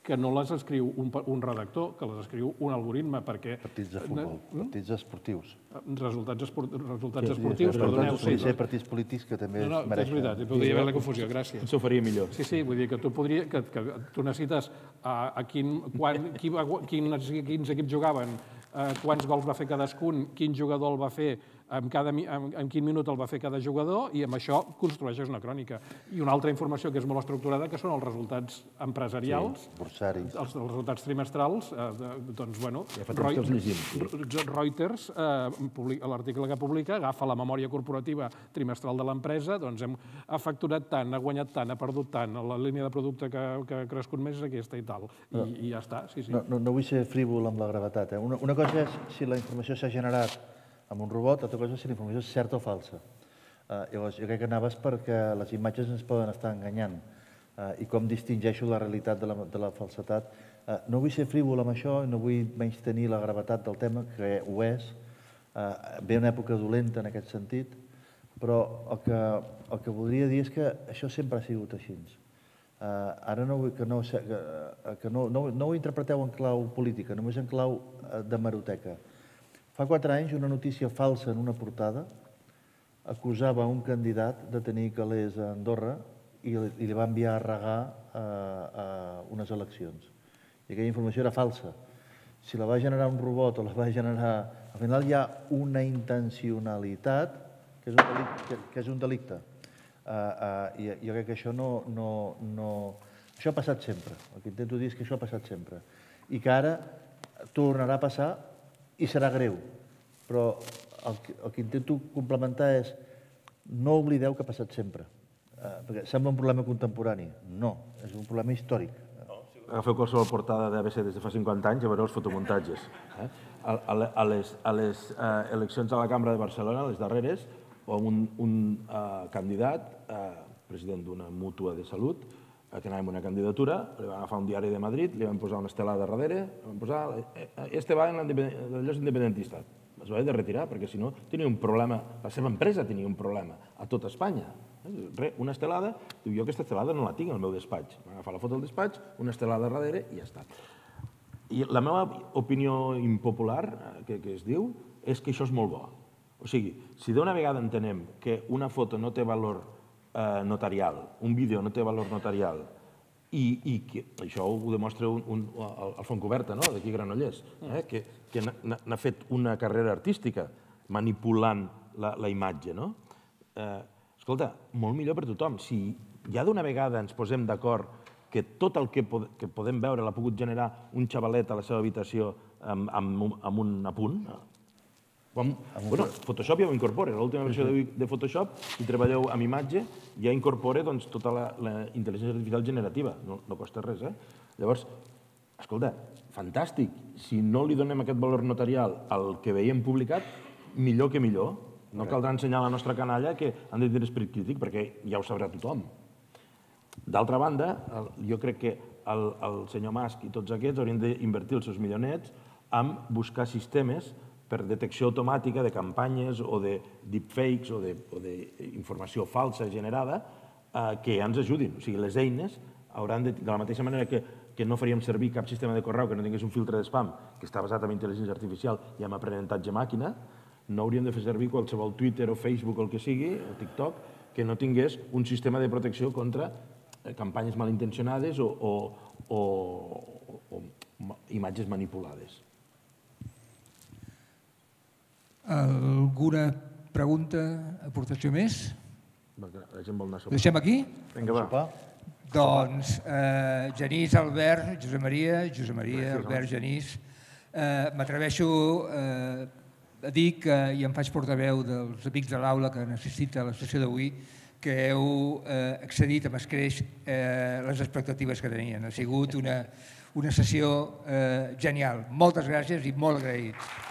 que no les escriu un redactor, que les escriu un algoritme, perquè... Partits de futbol, partits esportius. Resultats esportius, perdoneu. Podria ser partits polítics que també es mereixen. És veritat, podria haver la confusió, gràcies. Ens ho faria millor. Sí, sí, vull dir que tu podries, que tu necessites a quins equips jugaven, quants gols va fer cadascun, quin jugador el va fer, en quin minut el va fer cada jugador, i amb això construeixes una crònica. I una altra informació que és molt estructurada, que són els resultats empresarials, els resultats trimestrals, doncs, bueno, Reuters, l'article que publica, agafa la memòria corporativa trimestral de l'empresa, doncs ha facturat tant, ha guanyat tant, ha perdut tant, la línia de producte que ha crescut més és aquesta i tal. I ja està, sí, sí. No vull ser frívol amb la gravetat. Una cosa és si la informació s'ha generat amb un robot, altra cosa és si la informació és certa o falsa. Llavors, jo crec que anaves perquè les imatges ens poden estar enganyant i com distingeixo la realitat de la falsetat. No vull ser frívol amb això i no vull menystenir la gravetat del tema, que ho és. Ve una època dolenta en aquest sentit, però el que voldria dir és que això sempre ha sigut així. Ara no vull que no ho interpreteu en clau política, només en clau d'hemeroteca. Fa quatre anys, una notícia falsa en una portada acusava un candidat de tenir calés a Andorra i li va enviar a regar a unes eleccions. I aquella informació era falsa. Si la va generar un robot o la va generar... Al final hi ha una intencionalitat que és un delicte. I jo crec que això no... Això ha passat sempre. El que intento dir és que això ha passat sempre. I que ara tornarà a passar i serà greu, però el que intento complementar és no oblideu que ha passat sempre, perquè sembla un problema contemporani. No, és un problema històric. Agafeu qualsevol portada d'A B C des de fa cinquanta anys i veureu els fotomuntatges. A les eleccions a la Cambra de Barcelona, les darreres, un candidat, president d'una mútua de salut, que anava amb una candidatura, li van agafar un diari de Madrid, li van posar una estelada darrere, li van posar «Este va en l'enllaç independentista». Es va haver de retirar, perquè si no tenia un problema, la seva empresa tenia un problema a tot Espanya. Una estelada, diu, jo aquesta estelada no la tinc al meu despatx. Van agafar la foto del despatx, una estelada darrere i ja està. I la meva opinió impopular, que es diu, és que això és molt bo. O sigui, si d'una vegada entenem que una foto no té valor notarial, un vídeo no té valor notarial, i això ho demostra el Fontcoberta, d'aquí Granollers, que n'ha fet una carrera artística manipulant la imatge. Escolta, molt millor per tothom. Si ja d'una vegada ens posem d'acord que tot el que podem veure l'ha pogut generar un xavalet a la seva habitació amb un apunt, bueno, Photoshop ja ho incorpora. L'última versió de Photoshop, si treballeu amb imatge, ja incorpora tota la intel·ligència artificial generativa. No costa res, eh? Llavors, escolta, fantàstic. Si no li donem aquest valor notarial al que veiem publicat, millor que millor. No caldrà ensenyar a la nostra canalla que han de tenir esperit crític, perquè ja ho sabrà tothom. D'altra banda, jo crec que el senyor Musk i tots aquests haurien d'invertir els seus milionets en buscar sistemes per detecció automàtica de campanyes o de deepfakes o d'informació falsa generada que ens ajudin. O sigui, les eines hauran de... De la mateixa manera que no faríem servir cap sistema de correu que no tingués un filtre d'espam que està basat en intel·ligència artificial i en aprenentatge màquina, no hauríem de fer servir qualsevol Twitter o Facebook o el que sigui, o TikTok, que no tingués un sistema de protecció contra campanyes malintencionades o imatges manipulades. Alguna pregunta, aportació més? La gent vol anar a sopar. Ho deixem aquí? Vinga, va. Doncs Genís, Albert, Josep Maria, Josep Maria, Albert, Genís, m'atreveixo a dir que, i em faig portaveu dels amics de l'aula que han assistit a la sessió d'avui, que heu excedit amb escreix les expectatives que tenien. Ha sigut una sessió genial. Moltes gràcies i molt agraïts.